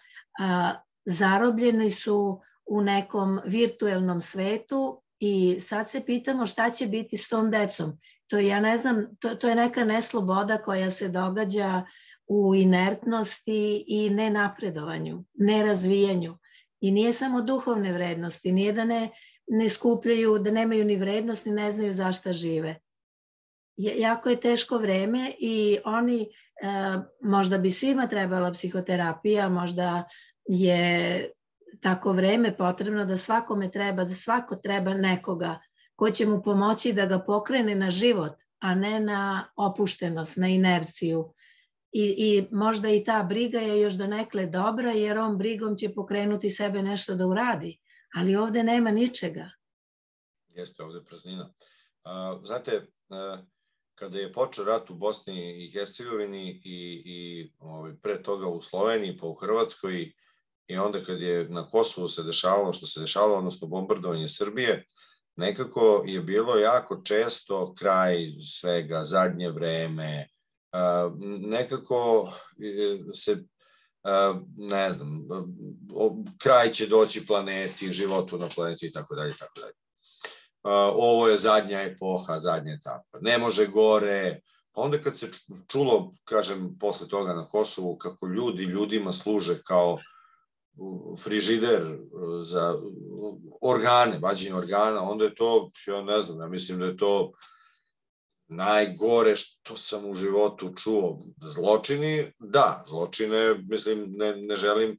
Zarobljeni su u nekom virtuelnom svetu i sad se pitamo šta će biti s tom decom. To ja ne znam, to je neka nesloboda koja se događa u inertnosti i nenapredovanju, nerazvijanju. I nije samo duhovne vrednosti, nije da ne skupljaju, da nemaju ni vrednost, ni ne znaju zašta žive. Jako je teško vreme i oni, možda bi svima trebala psihoterapija, možda je tako vreme potrebno da svakome treba, da svako treba nekoga ko će mu pomoći da ga pokrene na život, a ne na opuštenost, na inerciju. I možda i ta briga je još donekle dobra, jer on brigom će pokrenuti sebe nešto da uradi. Ali ovde nema ničega. Jeste, ovde je praznina. Znate, kada je počeo rat u Bosni i Hercegovini i pre toga u Sloveniji pa u Hrvatskoj i onda kad je na Kosovu se dešavalo što se dešavalo, odnosno bombardovanje Srbije, nekako je bilo jako često kraj svega, zadnje vreme, nekako se, ne znam, kraj će doći planeti, životu na planeti i tako dalje, tako dalje. Ovo je zadnja epoha, zadnja etapa. Ne može gore. Pa onda kad se čulo, kažem, posle toga na Kosovu, kako ljudi ljudima služe kao frižider za organe, vađenje organa, onda je to, ja ne znam, ja mislim da je to najgore što sam u životu čuo. Zločini, da, zločine, mislim, ne želim,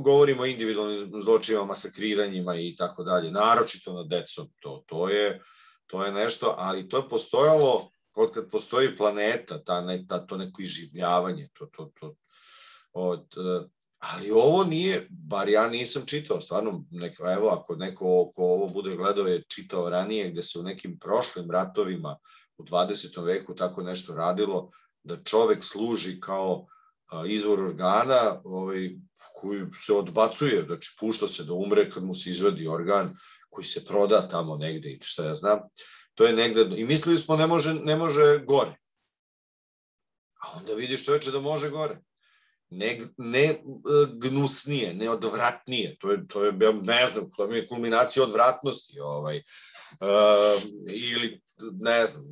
govorimo o individualnim zločinima, masakriranjima i tako dalje, naročito nad decom, to je nešto, ali to je postojalo od kad postoji planeta, to neko iživljavanje, ali ovo nije, bar ja nisam čitao, stvarno, evo, ako neko ko ovo bude gledao je čitao ranije, gde se u nekim prošlim ratovima u 20. veku tako nešto radilo, da čovek služi kao izvor organa koji se odbacuje, znači pušta se da umre kad mu se izvadi organ koji se proda tamo negde i šta ja znam, to je negde, i mislili smo ne može gore, a onda vidiš čoveče da može gore, ne gnusnije, ne odvratnije, to je, ne znam, to je kulminacija odvratnosti, ili ne znam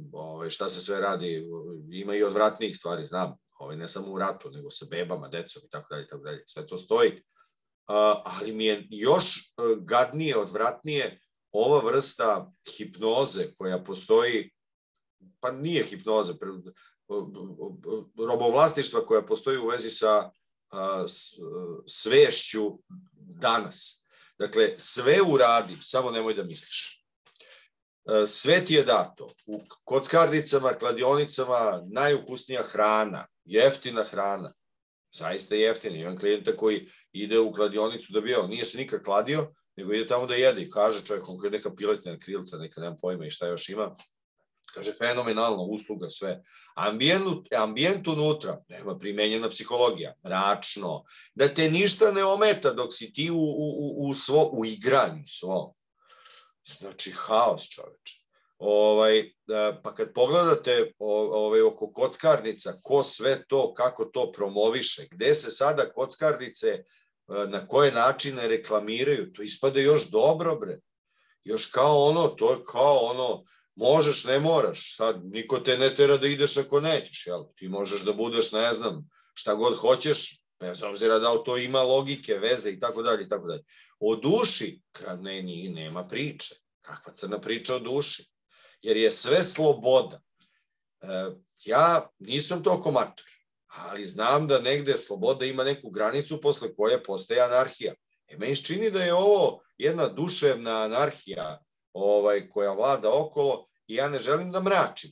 šta se sve radi, ima i odvratnijih stvari, znam, ne samo u ratu, nego sa bebama, decom i tako dalje, sve to stoji. Ali mi je još gadnije, odvratnije ova vrsta hipnoze koja postoji, pa nije hipnoza, robovlasništva koja postoji u vezi sa svešću danas. Dakle, sve uradi, samo nemoj da misliš. Sve ti je dato. U kockarnicama, kladionicama, najukusnija hrana, jeftina hrana, zaista jeftina. Imam klijenta koji ide u kladionicu da bi jeo, nije se nikad kladio, nego ide tamo da jede i kaže čovjek, on je neka piletna krilca, neka nemam pojma i šta još ima, kaže fenomenalno, usluga, sve. Ambijent unutra, nema primenjena psihologija, mračno, da te ništa ne ometa dok si ti u igranju svom. Znači, haos, čoveče. Pa kad pogledate oko kockarnica, ko sve to, kako to promoviše, gde se sada kockarnice, na koje načine reklamiraju, to ispada još dobro, bre. Još kao ono, to je kao ono, možeš, ne moraš, sad niko te ne tera da ideš ako nećeš, jel? Ti možeš da budeš, ne znam, šta god hoćeš, bez obzira da li to ima logike, veze i tako dalje, i tako dalje. O duši, nema priče. Kakva crna priča o duši? Jer je sve sloboda. ja nisam toliko mator, ali znam da negde sloboda ima neku granicu posle koje postaje anarhija. Meni se čini da je ovo jedna duševna anarhija koja vlada okolo i ja ne želim da mračim,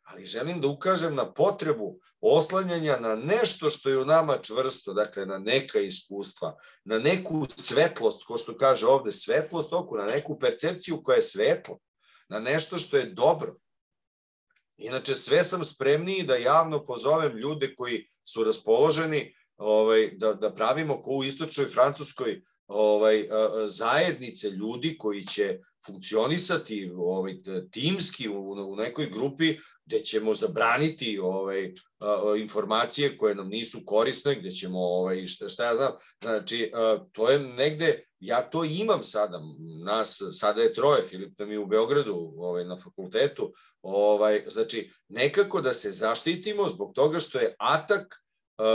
ali želim da ukažem na potrebu oslanjanja na nešto što je u nama čvrsto, dakle na neka iskustva, na neku svetlost, ko što kaže ovde, svetlost oku, na neku percepciju koja je svetla, na nešto što je dobro. Inače, sve sam spremniji da javno pozovem ljude koji su raspoloženi da pravimo ko u istočnoj Francuskoj zajednice ljudi koji će funkcionisati timski u nekoj grupi gde ćemo zabraniti informacije koje nam nisu korisne, gde ćemo, šta ja znam, znači, to je negde, ja to imam sada, nas sada je 3, Filip nam je u Beogradu na fakultetu, znači, nekako da se zaštitimo zbog toga što je atak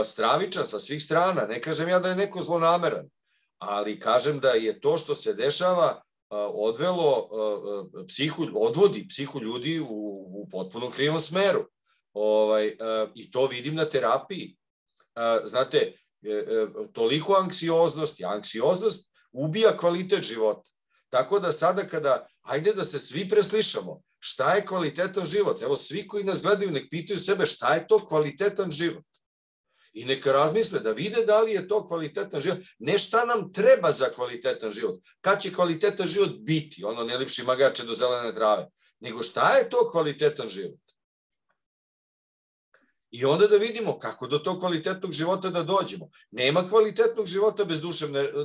stravičan sa svih strana, ne kažem ja da je neko zlonameran, ali kažem da je to što se dešava odvodi psihu ljudi u potpuno krivom smeru. I to vidim na terapiji. Znate, toliko anksioznosti, anksioznost ubija kvalitet života. Tako da sada ajde da se svi preslišamo, šta je kvalitetan život? Evo, svi koji nas gledaju nek pitaju sebe šta je to kvalitetan život. I neka razmisle da vide da li je to kvalitetan život, ne šta nam treba za kvalitetan život, kad će kvalitetan život biti, ono ne lipši magače do zelene trave, nego šta je to kvalitetan život. I onda da vidimo kako do tog kvalitetnog života da dođemo. Nema kvalitetnog života bez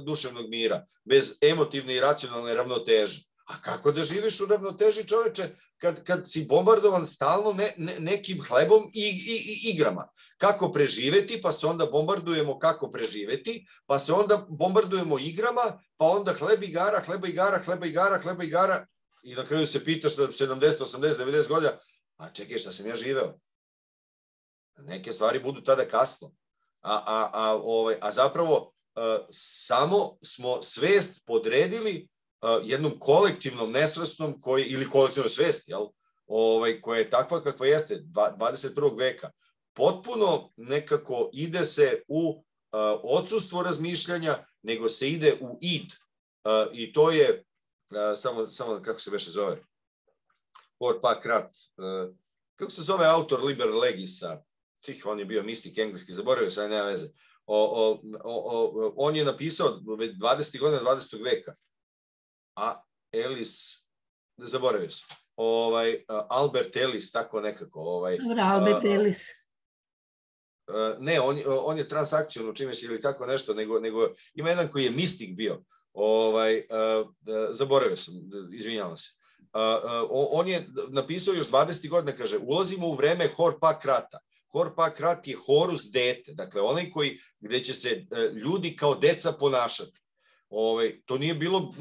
duševnog mira, bez emotivne i racionalne ravnoteže. A kako da živiš u ravnoteži, čoveče, kad si bombardovan stalno nekim hlebom i igrama? Kako preživeti, pa se onda bombardujemo kako preživeti, pa se onda bombardujemo igrama, pa onda hleba igara, i na kraju se pitaš 70, 80, 90 godina, a čekaj, šta sam ja živeo? Neke stvari budu tada kasno. A zapravo samo smo svest podredili jednom kolektivnom nesvesnom ili kolektivnoj svesti, koja je takva kakva jeste 21. veka. Potpuno nekako ide se u odsustvo razmišljanja, nego se ide u id. I to je, samo kako se beše zove, Horpakrat, kako se zove autor Liber Legisa, on je bio mistik engleski, zaboravio sam, nema veze. On je napisao 20. godina 20. veka. Zaboravio sam. Albert Ellis, tako nekako. Albert Ellis. Ne, on je transakcion, čime se ili tako nešto, nego ima jedan koji je mistik bio. Zaboravio sam, izvinjavam se. On je napisao još 20. godina, kaže, ulazimo u vreme Horpakrata. Horpakrat je Horus dete, dakle onaj gde će se ljudi kao deca ponašati. To nije bilo,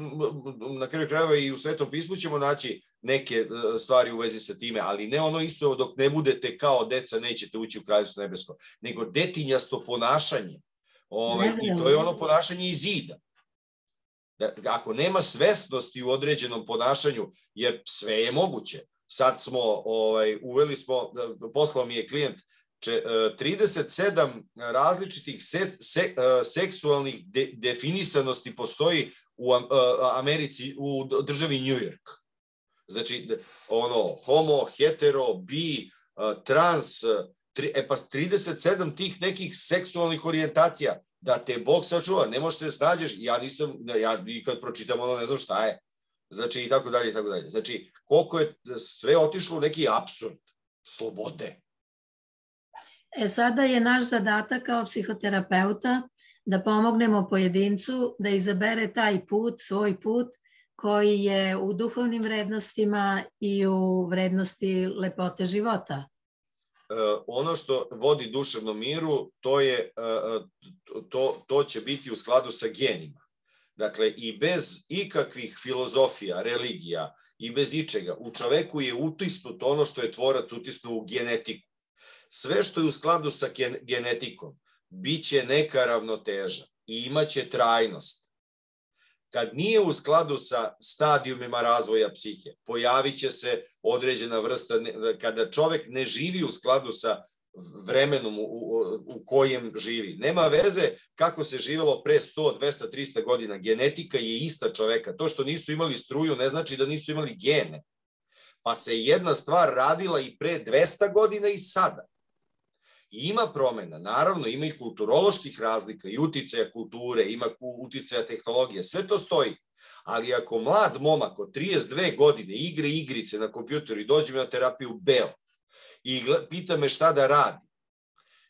na kraju krajeva i u Svetom pismu ćemo naći neke stvari u vezi sa time, ali ne ono isto dok ne budete kao deca nećete ući u Kraljevstvo nebesko, nego detinjasto ponašanje. I to je ono ponašanje iz zida. Ako nema svesnosti u određenom ponašanju, jer sve je moguće, sad smo, uveli smo, poslao mi je klijent 37 različitih seksualnih definisanosti postoji u Americi, u državi New York. Znači, homo, hetero, bi, trans, pa 37 tih nekih seksualnih orijentacija, da te Bog sačuva, ne možeš se snađeš, ja i kad pročitam ono ne znam šta je. Znači, i tako dalje, i tako dalje. Znači, koliko je sve otišlo u neki apsurd slobode. Sada je naš zadatak kao psihoterapeuta da pomognemo pojedincu da izabere taj put, svoj put, koji je u duhovnim vrednostima i u vrednosti lepote života. Ono što vodi duševnom miru, to će biti u skladu sa genima. Dakle, i bez ikakvih filozofija, religija i bez ičega, u čoveku je utisnuto ono što je tvorac utisnuo u genetiku. Sve što je u skladu sa genetikom, bit će neka ravnoteža i imaće trajnost. kad nije u skladu sa stadijumima razvoja psihe. Pojavit će se određena vrsta, kada čovek ne živi u skladu sa vremenom u kojem živi. Nema veze kako se živelo pre 100, 200, 300 godina. Genetika je ista čoveka. To što nisu imali struju ne znači da nisu imali gene. Pa se jedna stvar radila i pre 200 godina i sada. I ima promena, naravno ima i kulturoloških razlika, i uticaja kulture, ima uticaja tehnologije, sve to stoji. Ali ako mlad momak od 32 godine igra igrice na kompjuteru i dođe mi na terapiju beo i pita me šta da radi,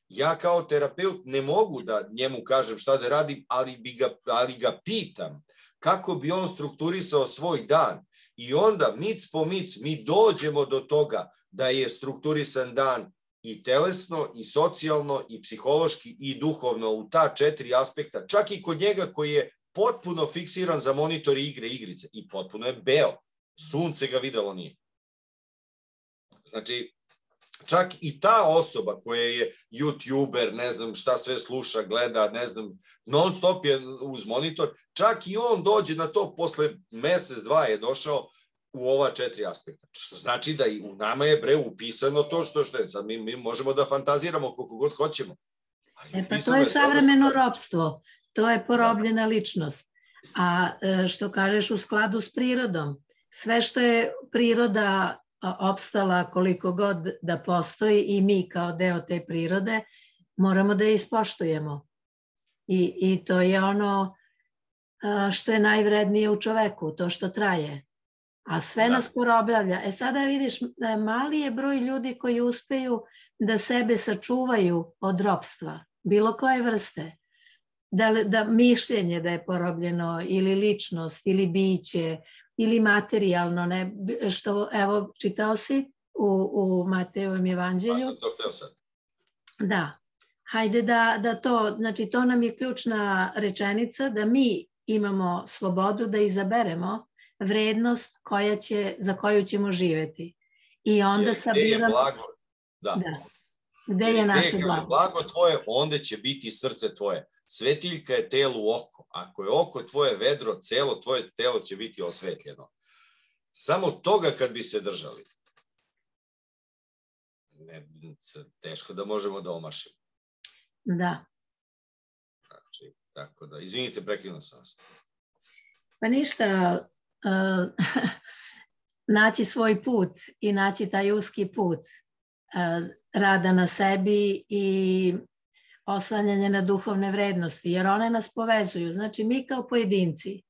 ja kao terapeut ne mogu da njemu kažem šta da radim, ali ga pitam kako bi on strukturisao svoj dan. I onda mic po mic mi dođemo do toga da je strukturisan dan i telesno, i socijalno, i psihološki, i duhovno u ta 4 aspekta, čak i kod njega koji je potpuno fiksiran za monitor igrice i potpuno je beo. Sunce ga videlo nije. Znači, čak i ta osoba koja je youtuber, ne znam šta sve sluša, gleda, ne znam, non stop je uz monitor, čak i on dođe na to posle mesec, 2 je došao u ova 4 aspekta. Što znači da i u nama je upisano to što je. Sad mi možemo da fantaziramo koliko god hoćemo. Pa to je savremeno ropstvo. To je porobljena ličnost. A što kažeš u skladu s prirodom, sve što je priroda opstala koliko god da postoji i mi kao deo te prirode, moramo da je ispoštujemo. I to je ono što je najvrednije u čoveku, to što traje. A sve nas porobljavlja. Sada vidiš, mali je broj ljudi koji uspeju da sebe sačuvaju od ropstva, bilo koje vrste. Da mišljenje da je porobljeno, ili ličnost, ili biće, ili materijalno, što, evo, čitao si u Matejevom evanđelju. Pa sam to hteo sad. Da. Hajde da to, znači to nam je ključna rečenica, da mi imamo slobodu da izaberemo vrednost za koju ćemo živeti. I onda sabiramo... Gde je blago? Da. Gde je naše blago? Blago tvoje, onda će biti srce tvoje. Svetiljka je telu oko. Ako je oko tvoje vedro, celo tvoje telo će biti osvetljeno. Samo toga kad bi se držali, teško da možemo da omašimo. Da. Znači, tako da, izvinite, prekinuo sam vas. Pa ništa, naći svoj put i naći taj uski put rada na sebi i oslanjanje na duhovne vrednosti, jer one nas povezuju. Znači, mi kao pojedinci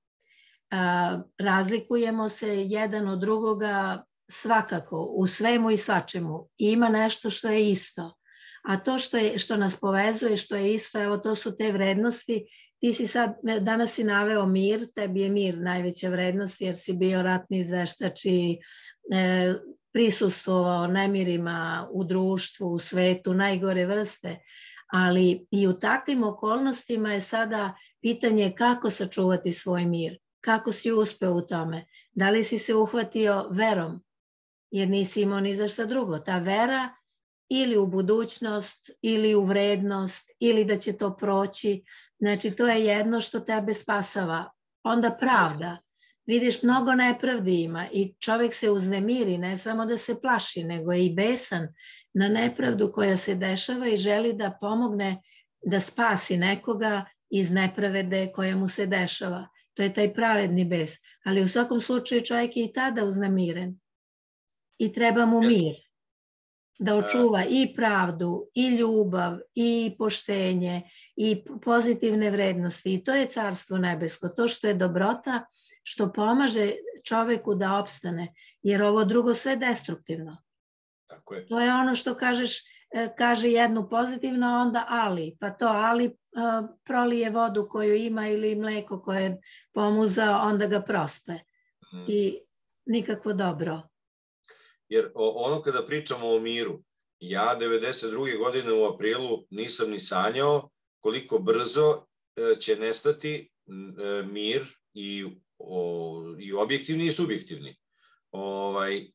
razlikujemo se jedan od drugoga svakako, u svemu i svačemu. Ima nešto što je isto. A to što nas povezuje, što je isto, evo, to su te vrednosti. Ti si danas si naveo mir, tebi je mir najveća vrednost, jer si bio ratni izveštač i prisustvovao nemirima u društvu, u svetu, najgore vrste. Ali i u takvim okolnostima je sada pitanje kako sačuvati svoj mir, kako si uspeo u tome. Da li si se uhvatio verom, jer nisi imao ni za šta drugo. Ta vera ili u budućnost, ili u vrednost, ili da će to proći. Znači, to je jedno što tebe spasava. Onda pravda. Vidiš, mnogo nepravdi ima i čovjek se uznemiri, ne samo da se plaši, nego je i besan na nepravdu koja se dešava i želi da pomogne da spasi nekoga iz nepravede koja mu se dešava. To je taj pravedni bes. Ali u svakom slučaju čovjek je i tada uznemiren i treba mu mir da očuva i pravdu, i ljubav, i poštenje, i pozitivne vrednosti. I to je carstvo nebesko, to što je dobrota, što pomaže čoveku da opstane, jer ovo drugo sve destruktivno. Tako je. To je ono što kaže jednu pozitivno, a onda ali. Pa to ali prolije vodu koju ima ili mleko koje je pomuzao, onda ga prospe. I nikakvo dobro. Jer ono kada pričamo o miru, ja 92. godine u aprilu nisam ni sanjao koliko brzo će nestati mir i objektivni i subjektivni.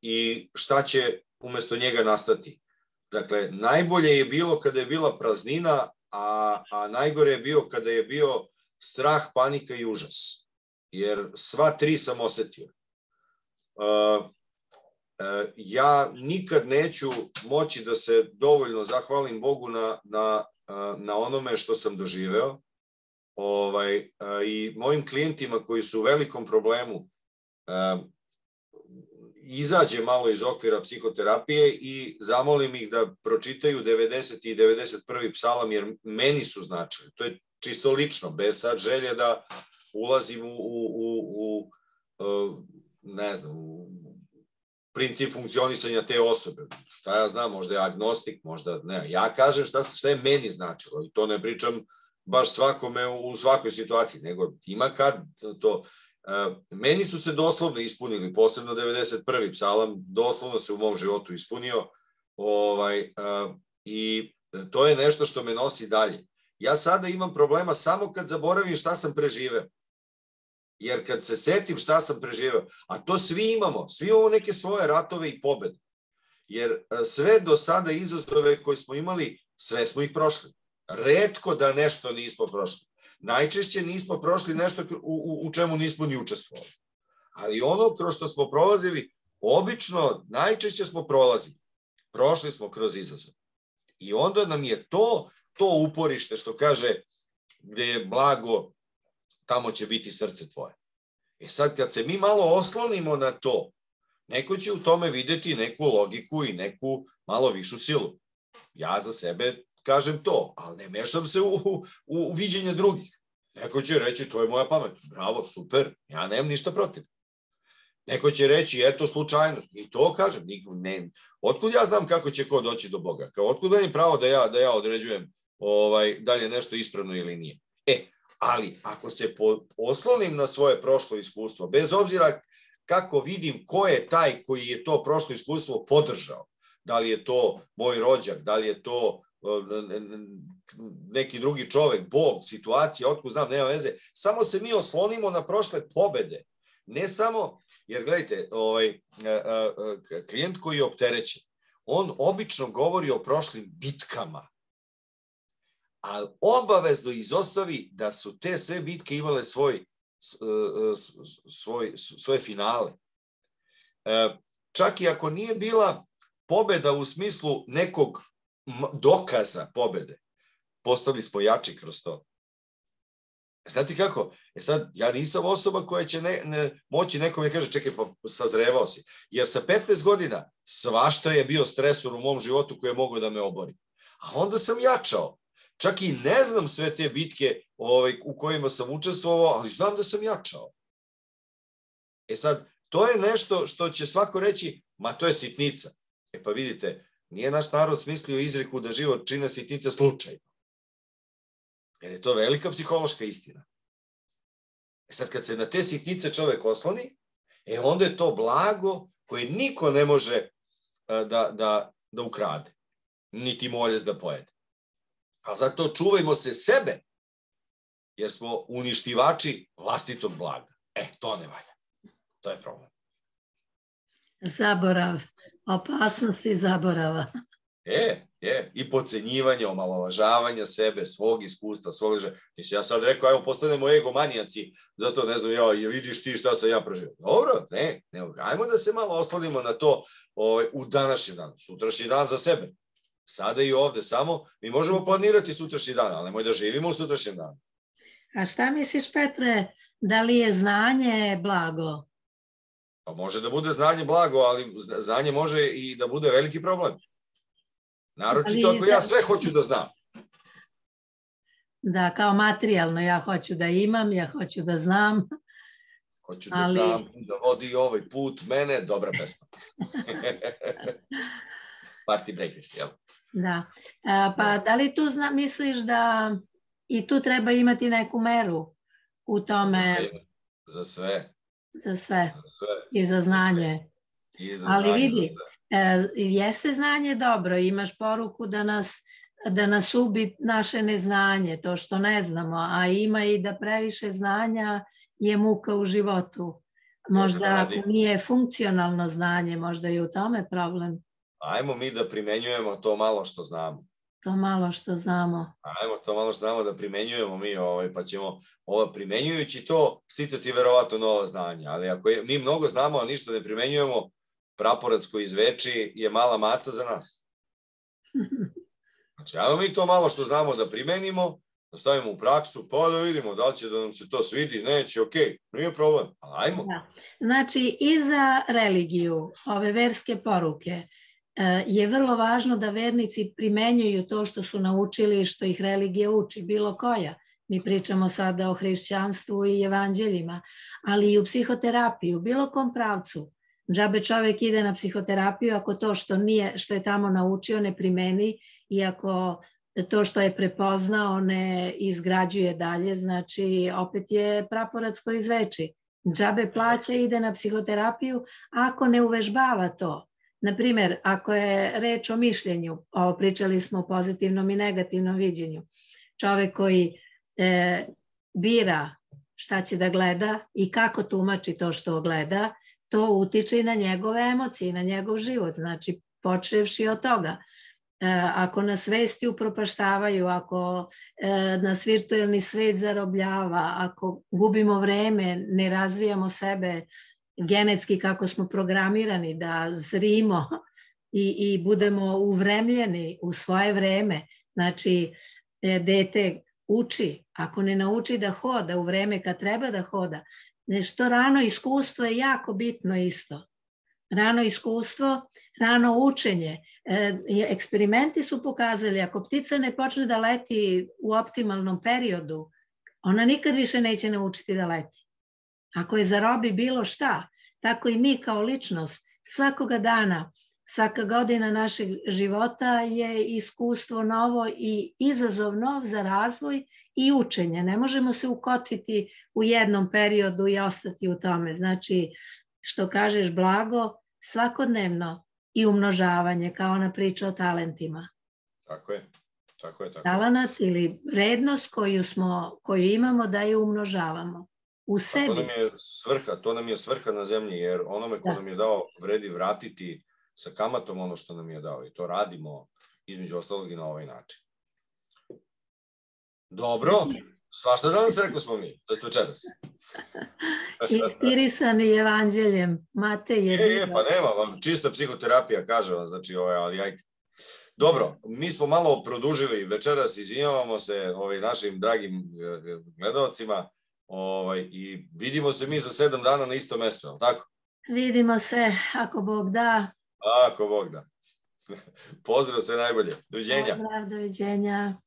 I šta će umesto njega nastati. Dakle, najbolje je bilo kada je bila praznina, a najgore je bio kada je bio strah, panika i užas. jer sva tri sam osetio. Ja nikad neću moći da se dovoljno zahvalim Bogu na onome što sam doživeo. I mojim klijentima koji su u velikom problemu izađe malo iz okvira psihoterapije i zamolim ih da pročitaju 90. i 91. psalam, jer meni su značili. To je čisto lično, bez sad želje da ulazim u ne znam, u princip funkcionisanja te osobe. Šta ja znam, možda je agnostik, možda ne. Ja kažem šta je meni značilo i to ne pričam baš svakome u svakoj situaciji, nego ima kad to. Meni su se doslovno ispunili, posebno 91. psalam, doslovno se u mom životu ispunio i to je nešto što me nosi dalje. Ja sada imam problema samo kad zaboravim šta sam preživeo. Jer kad se setim šta sam preživeo, a to svi imamo neke svoje ratove i pobede. Jer sve do sada izazove koje smo imali, sve smo ih prošli. Retko da nešto nismo prošli. Najčešće nismo prošli nešto u čemu nismo ni učestvovali. Ali ono kroz što smo prolazili, obično najčešće smo prolazili. Prošli smo kroz izazov. I onda nam je to uporište što kaže gde je blago, tamo će biti srce tvoje. Sad kad se mi malo oslonimo na to, neko će u tome videti neku logiku i neku malo višu silu. Ja za sebe kažem to, ali ne mešam se u viđenje drugih. Neko će reći, to je moja pamet. Bravo, super, ja nemam ništa protiv. Neko će reći, eto slučajnost. I to kažem. Otkud ja znam kako će ko doći do Boga? Otkud da je pravo da ja određujem da li je nešto ispravno ili nije? Ali ako se oslonim na svoje prošlo iskustvo, bez obzira kako vidim ko je taj koji je to prošlo iskustvo podržao, da li je to moj rođak, da li je to neki drugi čovek, Bog, situacija, otkud znam, nema veze, samo se mi oslonimo na prošle pobede. Ne samo, jer gledajte, klijent koji je opterećen, on obično govori o prošlim bitkama, ali obavezno izostavi da su te sve bitke imale svoje finale. Čak i ako nije bila pobeda u smislu nekog dokaza pobede, postali smo jači kroz to. Znate kako? Sad, ja nisam osoba koja će moći nekome kaže, čekaj, pa sazrevao si. Jer sa 15 godina svašta je bio stresor u mom životu koji je mogao da me obori. A onda sam jačao. Čak i ne znam sve te bitke u kojima sam učestvovao, ali znam da sam jačao. Sad, to je nešto što će svako reći, ma to je sitnica. Pa vidite, nije naš narod smislio izreku da život čine sitnice slučajno. Jer je to velika psihološka istina. Sad, kad se na te sitnice čovek osloni, onda je to blago koje niko ne može da ukrade, niti moljez da pojede. A zato čuvajmo se sebe, jer smo uništivači vlastitog blaga. To ne valja. To je problem. Zaborav. Opasnosti zaborava. I podcenjivanje, omalovažavanja sebe, svog iskustva, svog želja. Ja sad rekao, ajmo postanemo egomanijaci, zato ne znam, vidiš ti šta sam ja preživio. Dobro, ne, ajmo da se malo oslonimo na to u današnjem danu. Sutrašnji dan za sebe. Sada i ovde samo, mi možemo planirati sutrašnji dan, ali nemoj da živimo u sutrašnjem danu. A šta misliš, Petre, da li je znanje blago? Pa može da bude znanje blago, ali znanje može i da bude veliki problem. Naročito ako ja sve hoću da znam. Da, kao materijalno, ja hoću da imam, ja hoću da znam. Hoću da znam, da vodi ovaj put mene, dobra pesma. Party Breakers, jel? Da, pa da li tu misliš da i tu treba imati neku meru u tome? Za sve. Za sve. I za znanje. Ali vidi, jeste znanje dobro, imaš poruku da nas ubi naše neznanje, to što ne znamo, a ima i da previše znanja je muka u životu. Možda ako nije funkcionalno znanje, možda je u tome problem. Ajmo mi da primenjujemo to malo što znamo. to malo što znamo. Ajmo to malo što znamo da primenjujemo mi, pa ćemo primenjujući to sticati verovatno nova znanja. Ali ako mi mnogo znamo, a ništa ne primenjujemo, praporac koji izveči je mala maca za nas. Znači, ajmo mi to malo što znamo da primenimo, da stavimo u praksu, pa da vidimo da li će da nam se to svidi, neće, okej, nije problem, ali ajmo. Znači, i za religiju, ove verske poruke, je vrlo važno da vernici primenjuju to što su naučili i što ih religija uči, bilo koja. Mi pričamo sada o hrišćanstvu i evanđeljima, ali i u psihoterapiju, u bilo kom pravcu. Džabe čovek ide na psihoterapiju ako to što je tamo naučio ne primeni i ako to što je prepoznao ne izgrađuje dalje, znači opet je praporac koji izveči. Džabe plaća i ide na psihoterapiju ako ne uvežbava to. Naprimer, ako je reč o mišljenju, pričali smo o pozitivnom i negativnom viđenju, čovek koji bira šta će da gleda i kako tumači to što gleda, to utiče i na njegove emocije, na njegov život, znači počevši od toga. Ako nas vesti upropaštavaju, ako nas virtuelni svet zarobljava, ako gubimo vreme, ne razvijamo sebe genetski kako smo programirani da zrimo i budemo uvremljeni u svoje vreme, znači dete uči, ako ne nauči da hoda u vreme kad treba da hoda, nešto rano iskustvo je jako bitno isto. Rano iskustvo, rano učenje. Eksperimenti su pokazali, ako ptica ne počne da leti u optimalnom periodu, ona nikad više neće naučiti da leti. Ako je zarobi bilo šta, tako i mi kao ličnost, svakoga dana, svaka godina našeg života je iskustvo novo i izazov nov za razvoj i učenje. Ne možemo se ukotviti u jednom periodu i ostati u tome. Znači, što kažeš blago, svakodnevno i umnožavanje, kao ona priča o talentima. Tako je. Talenat ili vrednost koju imamo da je umnožavamo u sebi. To nam je svrha na zemlji, jer onome ko nam je dao vredi vratiti sa kamatom ono što nam je dao i to radimo između ostalog i na ovaj način. Dobro, svašta danas rekao smo mi, to je večeras. Inspirisani evanđeljem, Matej je... Pa nema, čista psihoterapija, kaže vam, znači, ali ajde. Dobro, mi smo malo produžili večeras, izvinjavamo se našim dragim gledalcima i vidimo se mi za 7 dana na isto mesto, je li tako? Vidimo se, ako Bog da. Ako Bog da. Pozdrav, sve najbolje. Doviđenja. Pozdrav, doviđenja.